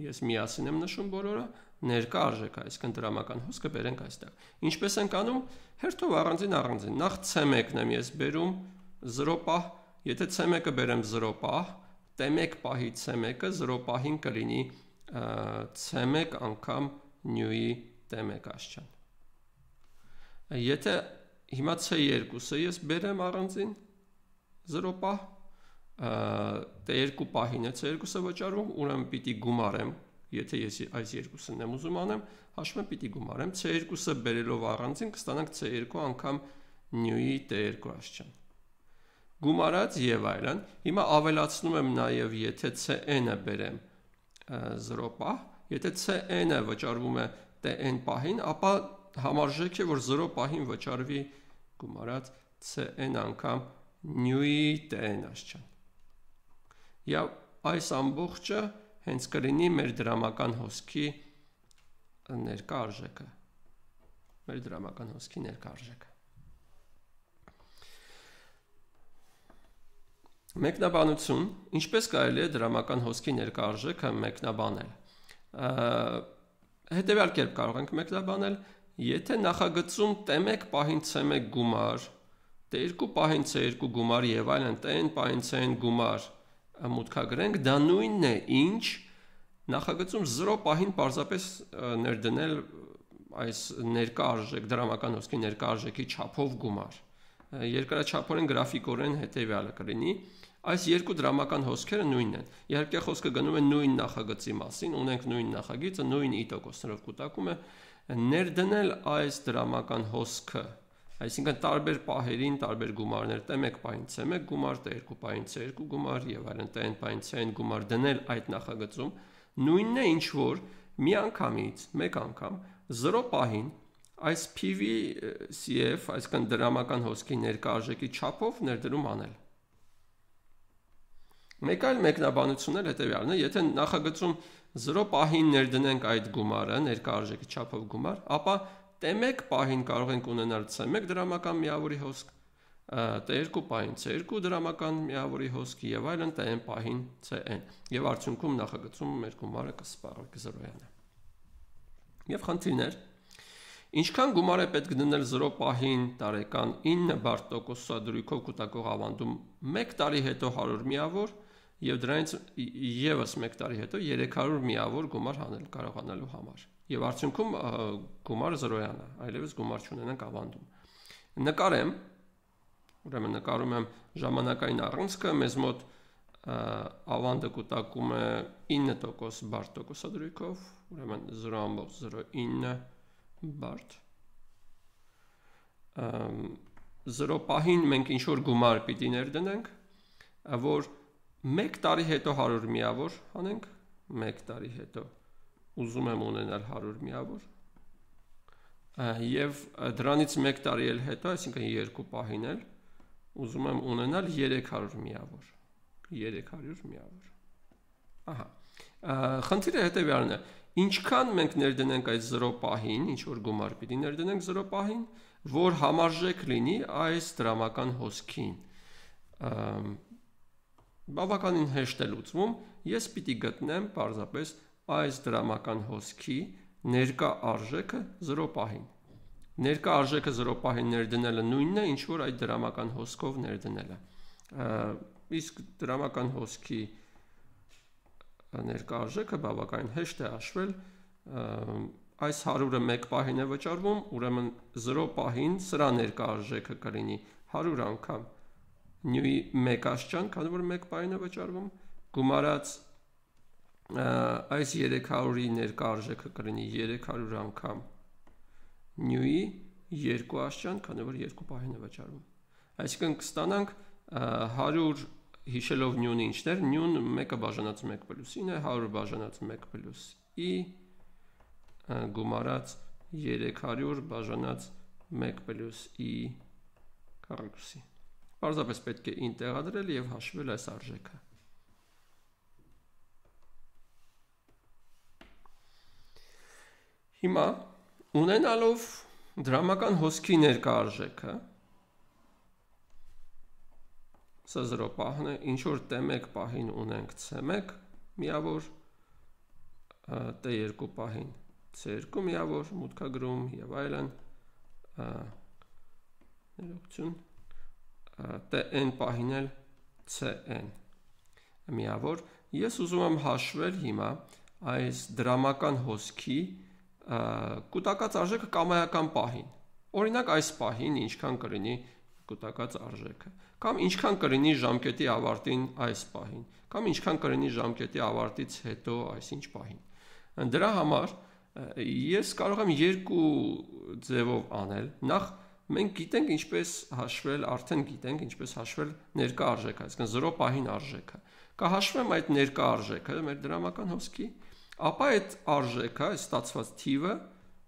ես միասին եմ նշում բոլորը, ներկա արժեքը, այսինքն դրամական հոսքը բերենք այստեղ։ Ինչպես ենք անում, հերթով առանձին, նախ C1-ն եմ ես բերում 0 պահ, եթե C1-ը բերեմ 0 պահ, T1 պահի C1-ը 0 պահին կլինի C1 անգամ նյուի T1 աշճան։ Եթե հիմա C2-ը ես բերեմ առանձին 0 պահ, T2 պահին է C2-ը վճարում, ուրեմն պիտի գումարեմ, եթե ես այս երկուսն եմ ուզում անեմ, հաշվում եմ պիտի գումարեմ, C2-ը բերելով առանձին կստանանք C2 անգամ նյուի T2 աշճան։ Գումարած եւ այլն, հիմա ավելացնում եմ նաեւ եթե Cn-ը բերեմ 0 պահ, եթե Cn-ը վճարվում է Tn պահին, ապա համարժեք է, որ 0 պահին վճարվի գումարած Cn անգամ նյուի Tn աշճան։ Եվ այս ամբողջը հենց կլինի մեր դրամական հոսքի ներկա արժեքը։ Մեր դրամական հոսքի ներկա արժեքը։ Մեկնաբանություն, ինչպես կարելի է դրամական հոսքի ներկա արժեքը մեկնաբանել։ Հետևյալ կերպ կարող ենք մեկնաբանել, եթե նախագծում T1 պահին C1 գումար, T2 պահին C2 գումար եւ այլն Tn պահին Cn գումար մուտքագրենք, դա նույնն է, ինչ նախագծում 0 պահին պարզապես ներդնել այս ներկա արժեք, դրամական հոսքի ներկա արժեքի չափով գումար։ Երկրաչափորեն գրաֆիկորեն հետևյալը կլինի, այս երկու դրամական հոսքերը նույնն են։ Իհարկե խոսքը գնում է նույն նախագծի մասին, ունենք նույն նախագիծը, նույն i%-ներով կուտակում է, ներդնել այս դրամական հոսքը, այսինքն տարբեր պահերին տարբեր գումարներ, T1 պահին C1 գումար, T2 պահին C2 գումար եւ այլն, Tn պահին Cn գումար դնել այդ նախագծում, նույնն է ինչ որ մի անգամից, մեկ անգամ 0 պահին այս PV-CF, այսինքն դրամական հոսքի ներկա արժեքի չափով ներդրում անել։ Մեկ այլ մեկնաբանություն էլ հետևյալն է, եթե նախագծում 0 պահին ներդնենք այդ գումարը, ներկա արժեքի չափով գումար, ապա T1 պահին կարող ենք ունենալ C1 դրամական միավորի հոսք, T2 պահին C2 դրամական միավորի հոսք եւ այլն Tn պահին Cn։ Եվ արդյունքում նախագծում մեր գումարը կսպառվի, կզրոյանա։ Եվ խնդիրներ, ինչքան գումար է պետք դնել 0 պահին տարեկան 9 բարդ տոկոսադրույքով կուտակող ավանդում 1 տարի հետո 100 միավոր եւ դրանից եւս 1 տարի հետո 300 միավոր գումար հանել կարողանալու համար։ Եվ արդյունքում գումարը զրոյանա, այլևս գումար չունենանք ավանդում։ Նկարեմ Ուրեմն նկարում եմ ժամանակային առանցքը, մեզ մոտ ավանդը կուտակում է 9% բարդ տոկոսադրույքով, ուրեմն 0.09 բարդ։ 0 պահին մենք ինչ-որ գումար պիտի ներդնենք, որ 1 տարի հետո 100 միավոր անենք, 1 տարի հետո ուզում եմ ունենալ 100 միավոր, և դրանից 1 տարի էլ հետո, այսինքն 2 պահին էլ, ուզում եմ ունենալ 300 միավոր, 300 միավոր, ահա, խնդիրը հետևյալն է, ինչքան մենք ներդնենք այդ 0 պահին, ինչ-որ գումար պիտի ներդնենք 0 պահին, որ համարժեք լինի այս դրամական հոսքին, բավականին հեշտ է լուծվում, ես պիտի գտնեմ պարզապես այս դրամական հոսքի ներկա արժեքը 0 պահին, ներկա արժեքը 0 պահին ներդնելը նույնն է, ինչ որ այդ դրամական հոսքով ներդնելը, իսկ դրամական հոսքի ներկա արժեքը բավականին հեշտ է հաշվել, այս 100-ը 1 պահին է վճարվում, ուրեմն 0 պահին սրա ներկա արժեքը կլինի 100 անգամ նյուի 1 աշճան, քանի որ 1 պահին է վճարվում, գումարած այս 300-ի ներկա արժեքը կլինի 300 անգամ նյուի 2 աշճան, քանի որ 2 պահին է վճարվում։ Այսինքն կստանանք 100 հիշելով նյունը ինչն էր, նյուն 1-ը բաժանած 1 պլյուս 9 է, 100 բաժանած 1 պլյուս i գումարած 300 բաժանած 1 պլյուս i քառակուսի։ Պարզապես պետք է ին տեղադրել և հաշվել այս արժեքը։ Հիմա ունենալով դրամական հոսքի ներկա արժեքը, սա 0 պահն է, ինչ-որ T1 պահին ունենք C1 միավոր, T2 պահին C2 միավոր, մուտքագրում և այլն, ներողություն, Tn պահին էլ Cn միավոր, ես ուզում եմ հաշվել հիմա այս դրամական հոսքի կուտակած արժեքը կամայական պահին, օրինակ այս պահին ինչքան կլինի կուտակած արժեքը, կամ ինչքան կլինի ժամկետի ավարտին այս պահին, կամ ինչքան կլինի ժամկետի ավարտից հետո այսինչ պահին։ Դրա համար ես կարող եմ երկու ձևով անել, նախ մենք գիտենք ինչպես հաշվել, արդեն գիտենք ինչպես հաշվել ներկա արժեքը, այսինքն 0 պահին արժեքը, կհաշվեմ այդ ներկա արժեքը մեր դրամական հոսքի, ապա այդ արժեքը, այս ստացված թիվը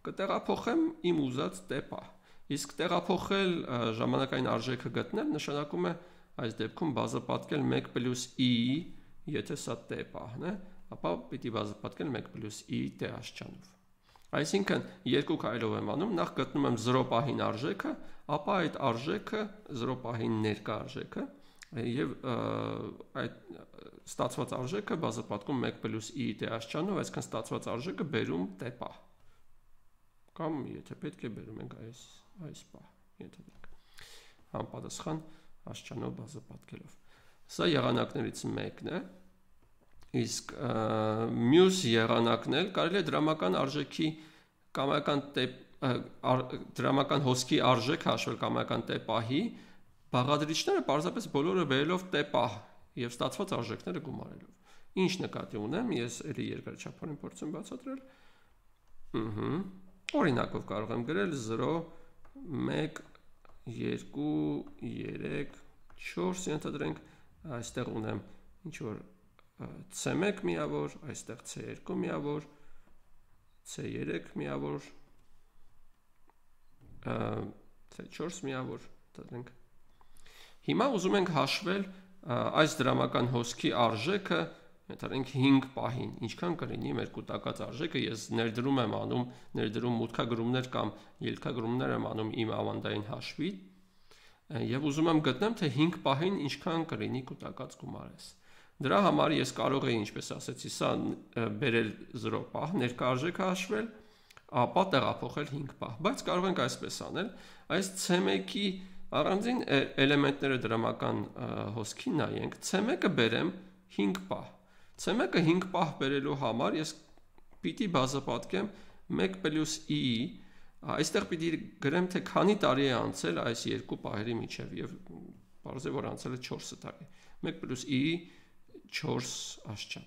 կտեղափոխեմ իմ ուզած T պահ։ Իսկ տեղափոխել ժամանակային արժեքը գտնել նշանակում է այս դեպքում բազապատկել 1 պլյուս i-ի, եթե սա T պահն է, ապա պիտի բազապատկել 1 պլյուս i T աշճանով։ Այսինքն երկու քայլով եմ անում, նախ գտնում եմ 0 պահին արժեքը, ապա այդ արժեքը 0 պահին ներկա արժեքը և այդ ստացված արժեքը բազապատկում 1 պլյուս i T աշճանով, այսինքն ստացված արժեքը բերում T պահ։ Կամ եթե պետք է բերում ենք այս պահ, ենթադրենք, համապատասխան աշճանով բազապատկելով։ Սա եղանակներից մեկն է, իսկ մյուս եղանակն էլ կարելի է դրամական արժեքի դրամական հոսքի արժեքը հաշվել կամայական T պահի, բաղադրիչները պարզապես բոլորը բերելով T պահ և ստացված արժեքները գումարելով։ Ինչ նկատի ունեմ, ես էլի երկրաչափորեն փորձեմ բացատրել։ Օրինակով կարող եմ գրել 0, 1, 2, 3, 4, ենթադրենք, այստեղ ունեմ ինչ-որ C1 միավոր, այստեղ C2 միավոր, C3 միավոր, C4 միավոր, ենթադրենք։ Հիմա ուզում ենք հաշվել այս դրամական հոսքի արժեքը, ենթադրենք 5 պահին, ինչքան կլինի մեր կուտակած արժեքը, ես ներդրում եմ անում, ներդրում մուտքագրումներ կամ ելքագրումներ եմ անում իմ ավանդային հաշվի և ուզում եմ գտնեմ, թե 5 պահին ինչքան կլինի կուտակած գումարես։ Դրա համար ես կարող էի, ինչպես ասեցի, սա բերել 0 պահ, ներկա արժեքը հաշվել, ապա տեղափոխել 5 պահ, բայց կարող ենք այսպես անել, այս C1-ի առանձին էլեմենտները դրամական հոսքին նայենք, C1-ը բերեմ 5 պահ, C1-ը 5 պահ բերելու համար ես պիտի բազապատկեմ 1 պլյուս i-ի Այստեղ պիտի գրեմ, թե քանի տարի է անցել այս երկու պահերի միջև եւ բարձր որ անցել է 4 տարի։ 1 + i 4 աշճան։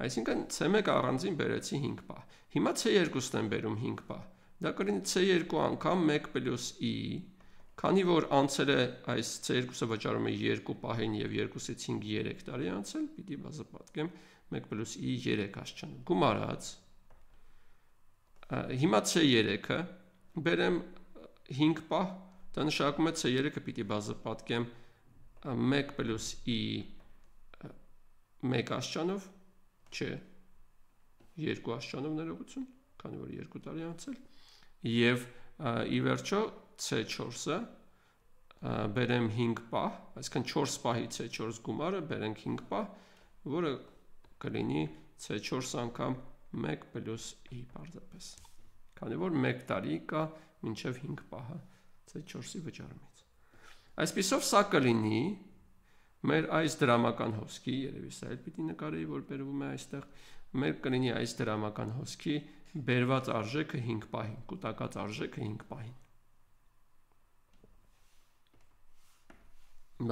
Այսինքն C1 առանձին բերեցի 5 պահ։ Հիմա C2-ն եմ բերում 5 պահ։ Դա կլինի C2 անգամ 1 + i, քանի որ անցել է այս C2-ը վճարում է 2 պահին եւ 2-ից 5 3 տարի անցել, պիտի բազմապատկեմ 1 + i 3 աշճան։ Գումարած հիմա C3-ը բերեմ 5 պահ, դա նշանակում է C3-ը պիտի բազմապատկեմ 1 + i 1 աշճանով, չէ, 2 աշճանով ներողություն, քանի որ 2 տարի անցել, եւ ի վերջո C4-ը բերեմ 5 պահ, այսինքն 4 պահի C4 գումարը բերենք 5 պահ, որը կլինի C4 անգամ 1 + i պարզապես, քանի որ 1 տարի կա մինչև 5 պահը C4-ի վճարումից։ Այսպիսով սա կլինի մեր այս դրամական հոսքի, երևի սա էլ պիտի նկարեի, որ բերվում է այստեղ, մեր կլինի այս դրամական հոսքի բերված արժեքը 5 պահին, կուտակած արժեքը 5 պահին։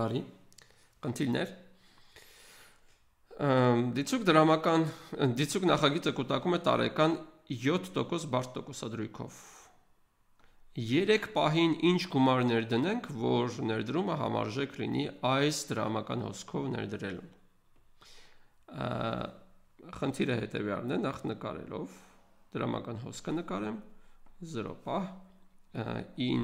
Բարի, խնդիրներ։ Դիցուկ նախագիծը կուտակում է տարեկան 7% բարդ տոկոսադրույքով։ 3 պահին ինչ գումարներ դնենք, որ ներդրումը համարժեք լինի այս դրամական հոսքով ներդրելուն։ Խնդիրը հետևյալն է, նախ նկարելով դրամական հոսքը նկարեմ 0 պահ, in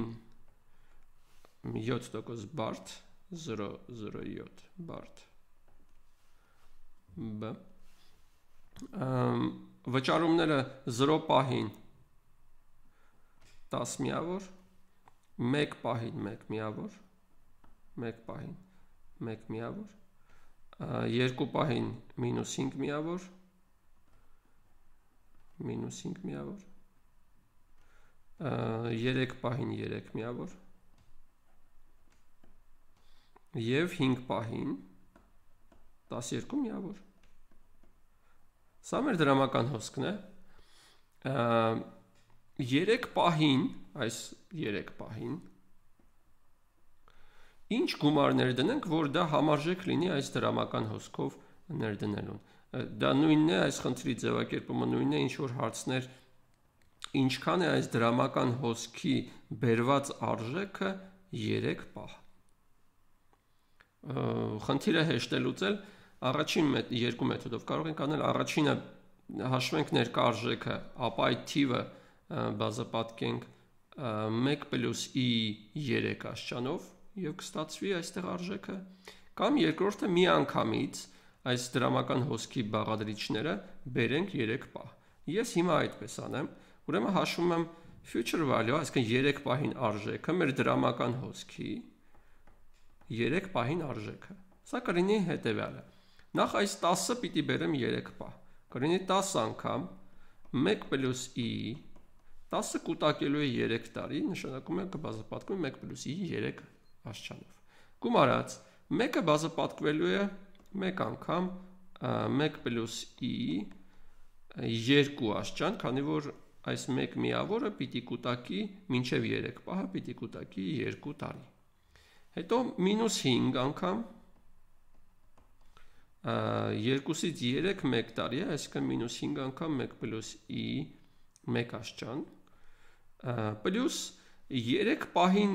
7% բարդ 007 բարդ B վճարումները 0 պահին 10 միավոր, 1 պահին 1 միավոր, 1 պահին 1 միավոր, 2 պահին -5 միավոր, -5 միավոր, 3 պահին 3 միավոր եւ 5 պահին 12 միավոր։ Սա մեր դրամական հոսքն է։ 3 պահին, այս 3 պահին ինչ գումարներ դնենք, որ դա համարժեք լինի այս դրամական հոսքով ներդնելուն։ Դա նույնն է, այս խնդրի ձևակերպումը նույնն է, ինչ որ հարցներ ինչքան է այս դրամական հոսքի բերված արժեքը 3 պահ։ Խնդիրը հեշտ է լուծել, առաջին երկու մեթոդով կարող ենք անել, առաջինը հաշվենք ներկա արժեքը, ապա այդ թիվը բազմապատկենք 1 + i 3 աշճանով եւ կստացվի այստեղ արժեքը, կամ երկրորդը մի անգամից այս դրամական հոսքի բաղադրիչները բերենք 3 պահ։ Ես հիմա այդպես անեմ, ուրեմն հաշվում եմ future value, այսինքն 3 պահին արժեքը, մեր դրամական հոսքի 3 պահին արժեքը։ Սա կլինի հետևյալը։ Նախ այս 10-ը պիտի բերեմ 3 պահ։ Կլինի 10 անգամ 1 + i 10-ը կուտակելու է 3 տարի, նշանակում է կբազմապատկվի 1 + i 3 աշճանով։ Գումարած 1-ը բազմապատկվելու է 1 անգամ 1 + i 2 աշճան, քանի որ այս 1 միավորը պիտի կուտակի մինչև 3 պահը պիտի կուտակի 2 տարի։ Հետո -5 անգամ 2-ից 3 1 տարի է, այսինքն -5 անգամ 1 + i 1 աշճան, պլյուս 3 պահին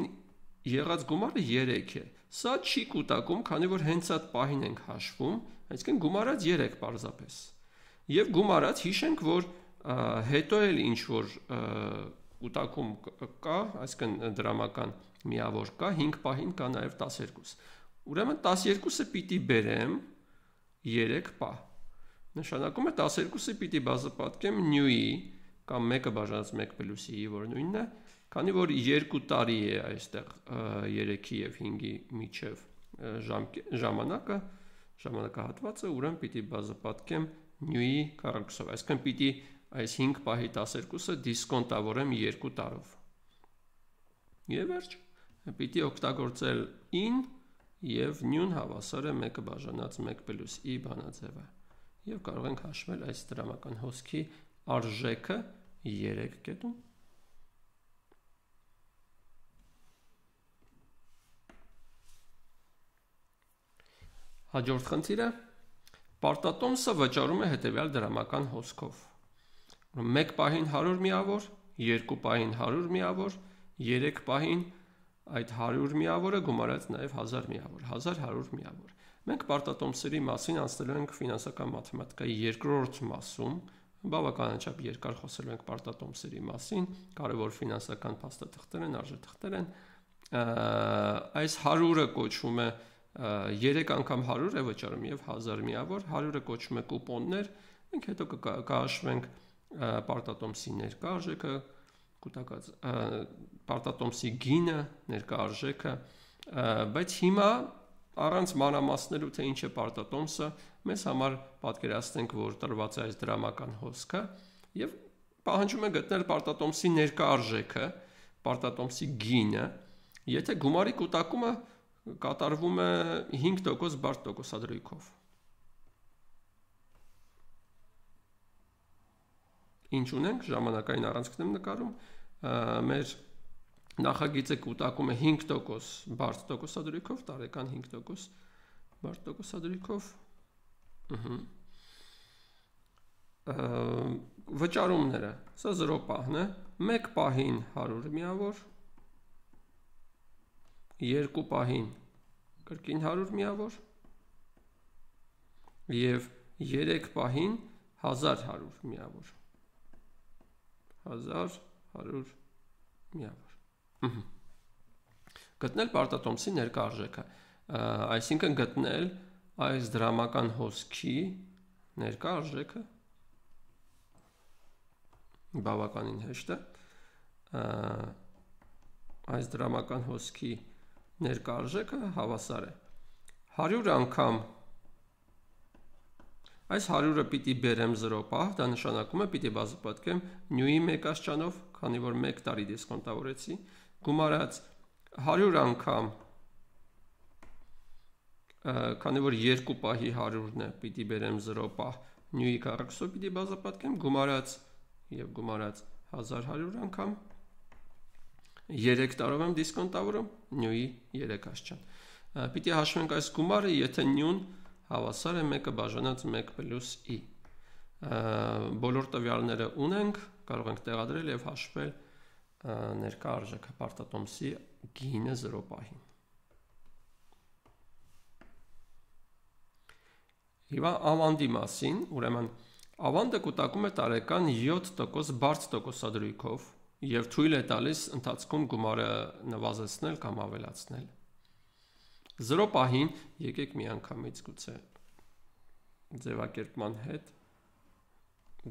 եղած գումարը 3 է։ Սա չի կուտակում, քանի որ հենց այդ պահին ենք հաշվում, այսինքն գումարած 3 պարզապես։ Եվ գումարած հիշենք, որ հետո էլ ինչ որ կուտակում կա, այսինքն դրամական միավոր կա, 5 պահին կա նաև 12։ Ուրեմն 12-ը պիտի բերեմ 3 պահ։ Նշանակում է 12-ը պիտի բազմապատկեմ նյուի կամ 1-ը բաժանած 1 + i, որ նույնն է, քանի որ 2 տարի է այստեղ 3-ի եւ 5-ի միջև ժամանակահատվածը, ուրեմն պիտի բազմապատկեմ նյուի կառակուսով, այսինքն պիտի այս 5 պահի 12-ը դիսկոնտավորեմ 2 տարով։ Եվ վերջ, պիտի օգտագործել in եւ նյուն հավասար է 1-ը բաժանած 1 + i բանաձևը։ Եվ կարող ենք հաշվել այս դրամական հոսքի արժեքը 3 կետում։ Հաջորդ խնդիրը պարտատոմսը վճարում է հետևյալ դրամական հոսքով։ 1 պահին 100 միավոր, 2 պահին 100 միավոր, 3 պահին այդ 100 միավորը գումարած նաև 1000 միավոր, 1100 միավոր։ Մենք պարտատոմսերի մասին անցնելու ենք ֆինանսական մաթեմատիկայի երկրորդ մասում, բավականաչափ երկար խոսելու ենք պարտատոմսերի մասին, կարևոր ֆինանսական փաստաթղթեր են, արժեթղթեր են։ Այս 100-ը կոչվում է 3 անգամ 100 է վճարում եւ 1000 միավոր, 100-ը կոչվում է կուպոններ, մենք հետո կհաշվենք պարտատոմսի ներկա արժեքը, կուտակած պարտատոմսի գինը, ներկա արժեքը, բայց հիմա առանց մանրամասնելու թե ինչ է պարտատոմսը, մեզ համար պատկերացնենք, որ տրված է այս դրամական հոսքը եւ պահանջում է գտնել պարտատոմսի ներկա արժեքը, պարտատոմսի գինը, եթե գումարի կուտակումը կատարվում է 5% բարդ տոկոսադրույքով։ Ինչ ունենք, ժամանակային առանցքն եմ նկարում, մեր նախագիծը կուտակում է 5% բարդ տոկոսադրույքով, տարեկան 5% բարդ տոկոսադրույքով։ Վճարումները, սա 0 պահն է, 1 պահին 100 միավոր, 2 պահին կրկին 100 միավոր եւ 3 պահին 1100 միավոր։ 1100 միավոր։ Գտնել պարտատոմսի ներկա արժեքը, այսինքն գտնել այս դրամական հոսքի ներկա արժեքը բավականին հեշտ է, այս դրամական հոսքի ներկա արժեքը հավասար է 100 անգամ, այս 100-ը պիտի բերեմ 0 պահ, դա նշանակում է պիտի բազմապատկեմ նյուի 1 աստիճանով, քանի որ 1 տարի դիսկոնտավորեցի, գումարած 100 անգամ, քանի որ 2 պահի 100-ն է, պիտի բերեմ 0 պահ, նյուի քառակուսով պիտի բազմապատկեմ, գումարած եւ գումարած 1100 անգամ, 3 տարով եմ դիսկոնտավորում, նյուի 3 աստիճան։ Պիտի հաշվենք այս գումարը, եթե նյուն հավասար է 1-ը բաժանած 1 + i։ Բոլոր տվյալները ունենք, կարող ենք տեղադրել եւ հաշվել ներկա արժեքը պարտատոմսի գինը 0 պահին։ Հիմա ավանդի մասին, ուրեմն ավանդը կուտակում է տարեկան 7% բարդ տոկոսադրույքով եւ թույլ է տալիս ընթացքում գումարը նվազեցնել կամ ավելացնել։ 0 պահին եկեք միանգամից գուցե ձևակերպման հետ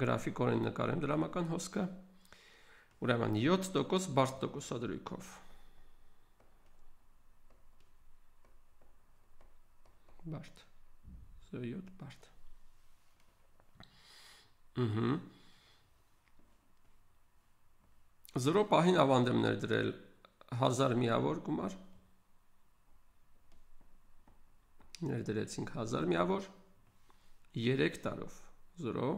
գրաֆիկորեն նկարեմ դրամական հոսքը, ուրեմն 7% բարդ տոկոսադրույքով, բարդ, 7 բարդ, 0 պահին ավանդ եմ ներդրել 1000 միավոր գումար, ներդրեցինք 1000 միավոր, 3 տարով 0,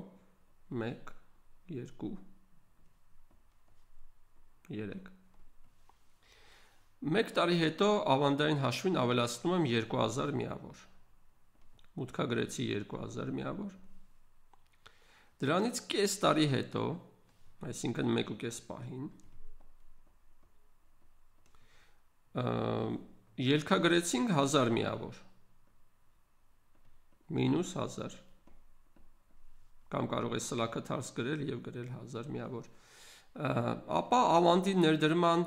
1, 2, 3 1 տարի հետո ավանդային հաշվին ավելացնում եմ 2000 միավոր, մուտքագրեցի 2000 միավոր, դրանից կես տարի հետո, այսինքն 1.5 պահին, ելքագրեցինք 1000 միավոր, մինուս 1000, կամ կարող է սլաքը թարս գրել և գրել 1000 միավոր, ապա ավանդի ներդրման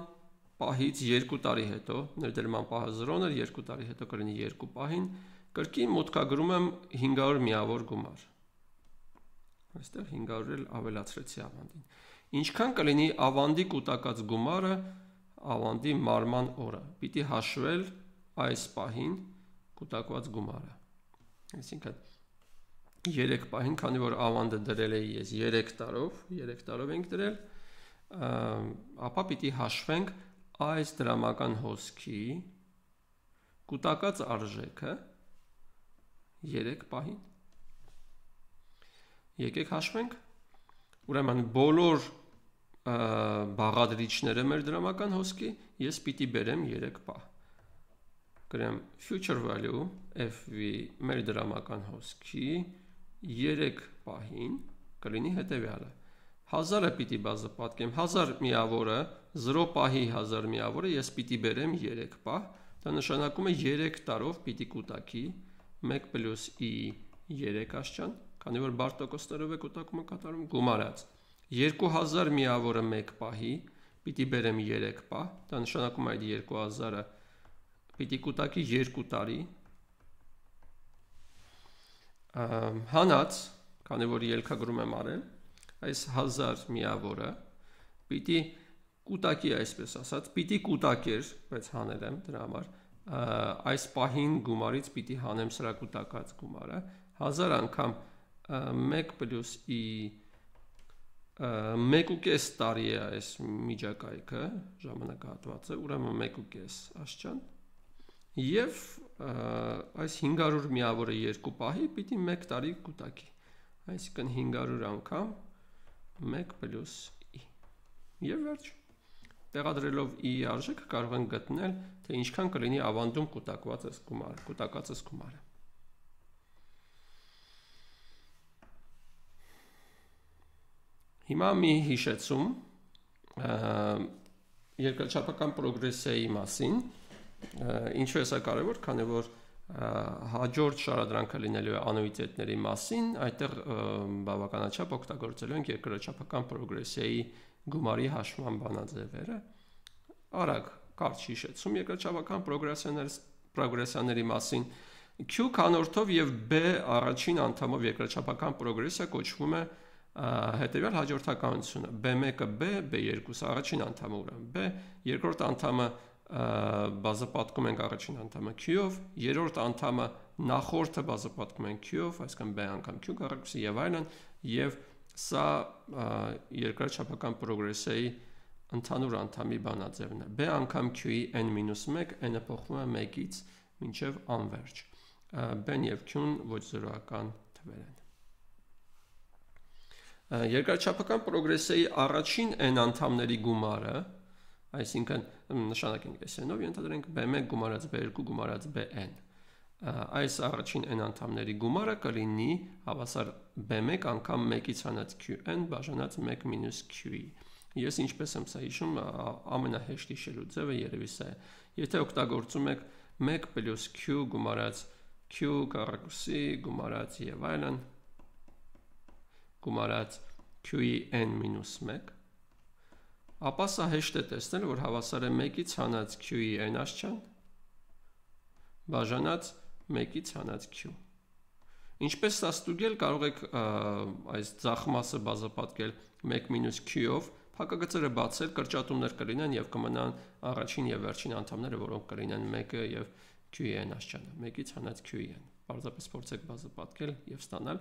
պահից 2 տարի հետո, ներդրման պահը 0-ն էր, 2 տարի հետո կրինի 2 պահին, կրկին մուտքագրում եմ 500 միավոր գումար, այստեղ 500 էլ ավելացրեցի ավանդին, ինչքան կլինի ավանդի կուտակած գումարը ավանդի մարման օրը, պիտի հաշվել այս պահին կուտակված գումարը, այսինքն 3 պահին, քանի որ ավանդը դրել էի ես 3 տարով ենք դրել, ապա պիտի հաշվենք այս դրամական հոսքի կուտակած արժեքը 3 պահին, եկեք հաշվենք, ուրեմն բոլոր բաղադրիչները մեր դրամական հոսքի ես պիտի բերեմ 3 պահ, գրեմ future value FV մեր դրամական հոսքի 3 պահին կլինի հետևյալը 1000-ը պիտի բազմապատկեմ 1000 միավորը 0 պահի 1000 միավորը ես պիտի բերեմ 3 պահ դա նշանակում է 3 տարով պիտի կուտակի 1 + i 3 աշճան քանի որ բարդ տոկոսներով է կուտակումը կատարում գումարած 2000 միավորը 1 պահի պիտի բերեմ 3 պահ դա նշանակում է այդ 2000-ը պիտի կուտակի 2 տարի հանած քանի որ ելքագրում եմ արել այս 1000 միավորը պիտի կուտակի այսպես ասած պիտի կուտակեր բայց հանել եմ դրա համար այս պահին գումարից պիտի հանեմ սրա կուտակած գումարը 1000 անգամ 1 + i 1.5 տարի է այս միջակայքը ժամանակահատվածը ուրեմն 1.5 աշճան եւ այս 500 միավորը 2 պահի պիտի 1 տարի կուտակի այսինքն 500 անգամ 1 + i եւ վերջ տեղադրելով i արժեքը կարող ենք գտնել թե ինչքան կլինի ավանդում կուտակված գումարը հիմա մի հիշեցում երկրաչափական պրոգրեսիայի մասին ինչու է սա կարևոր քանի որ հաջորդ շարադրանքը լինելու է անուիտետների մասին այդտեղ բավականաչափ օգտագործելու ենք երկրաչափական պրոգրեսիայի գումարի հաշվման բանաձևերը արագ կարճ հիշեցում երկրաչափական պրոգրեսիաների մասին Q քանորդով եւ B առաջին անդամով երկրաչափական պրոգրեսիա կոչվում է հետեւյալ հաջորդականությունը B1-ը B, B2-ը առաջին անդամը ուրեմն B, երկրորդ անդամը բազմապատկում ենք առաջին անդամը Q-ով, երրորդ անդամը նախորդը բազմապատկում ենք Q-ով, այսինքն B անգամ Q կառույցի եւ այլն, եւ սա երկրաչափական պրոգրեսիայի ընդհանուր անդամի բանաձևն է։ B անգամ Q-ի n-1, n-ը փոխվում է 1-ից մինչև անվերջ։ B-ն եւ Q-ն ոչ զրոական թվեր են։ Երկրաչափական պրոգրեսիայի առաջին n անդամների գումարը, այսինքն նշանակենք s-նով ենթադրենք B1 գումարած B2 գումարած Bn։ Այս առաջին n անդամների գումարը կլինի հավասար B1 անգամ 1-ից հանած Qn բաժանած 1 - Q-ի։ Ես ինչպես եմ սա հիշում, ամենահեշտ հիշելու ձևը երևի սա է։ Եթե օգտագործում եք 1 + Q գումարած Q կառույցի գումարած եւ այլն գումարած Q-ի n-1, ապա սա հեշտ է տեսնել, որ հավասար է 1-ից հանած Q-ի n աշճան բաժանած 1-ից հանած Q։ Ինչպես սա ստուգել, կարող եք այս ձախ մասը բազմապատկել 1 - Q-ով, փակագծերը բացել, կրճատումներ կլինեն եւ կմնան առաջին եւ վերջին անդամները, որոնք կլինեն 1-ը եւ Q-ի n աշճանը, 1-ից հանած Q-ի n։ Պարզապես փորձեք բազմապատկել եւ ստանալ։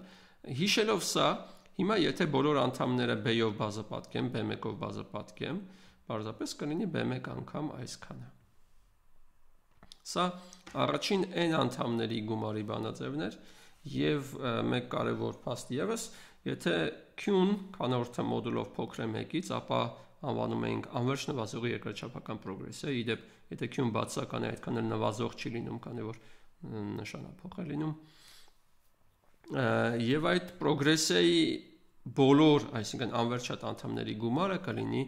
Հիշելով սա, հիմա եթե բոլոր անդամները B-ով բազմապատկեմ, B1-ով բազմապատկեմ, պարզապես կլինի B1 անգամ այսքանը։ Սա առաջին n անդամների գումարի բանաձևն էր եւ մեկ կարևոր փաստ եւս, եթե Q-ն քանորդը մոդուլով փոքր է 1-ից, ապա անվանում ենք անվերջ նվազողի երկրաչափական պրոգրեսիա, իդեպ եթե Q-ն բացական է, այդքան էլ նվազող չի լինում, քանի որ նշանափոխ է լինում։ Եվ այդ պրոգրեսիայի բոլոր, այսինքն անվերջատ անդամների գումարը կլինի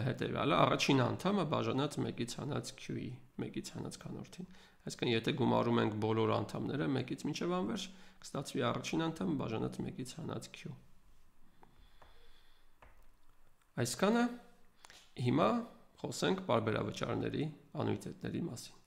հետևյալը, առաջին անդամը բաժանած 1-ից հանած Q-ի, 1-ից հանած քանորդին։ Այսինքն եթե գումարում ենք բոլոր անդամները 1-ից մինչև անվերջ, կստացվի առաջին անդամը բաժանած 1-ից հանած Q։ Այսքանը հիմա խոսենք պարբերավճարների անուիտետների մասին։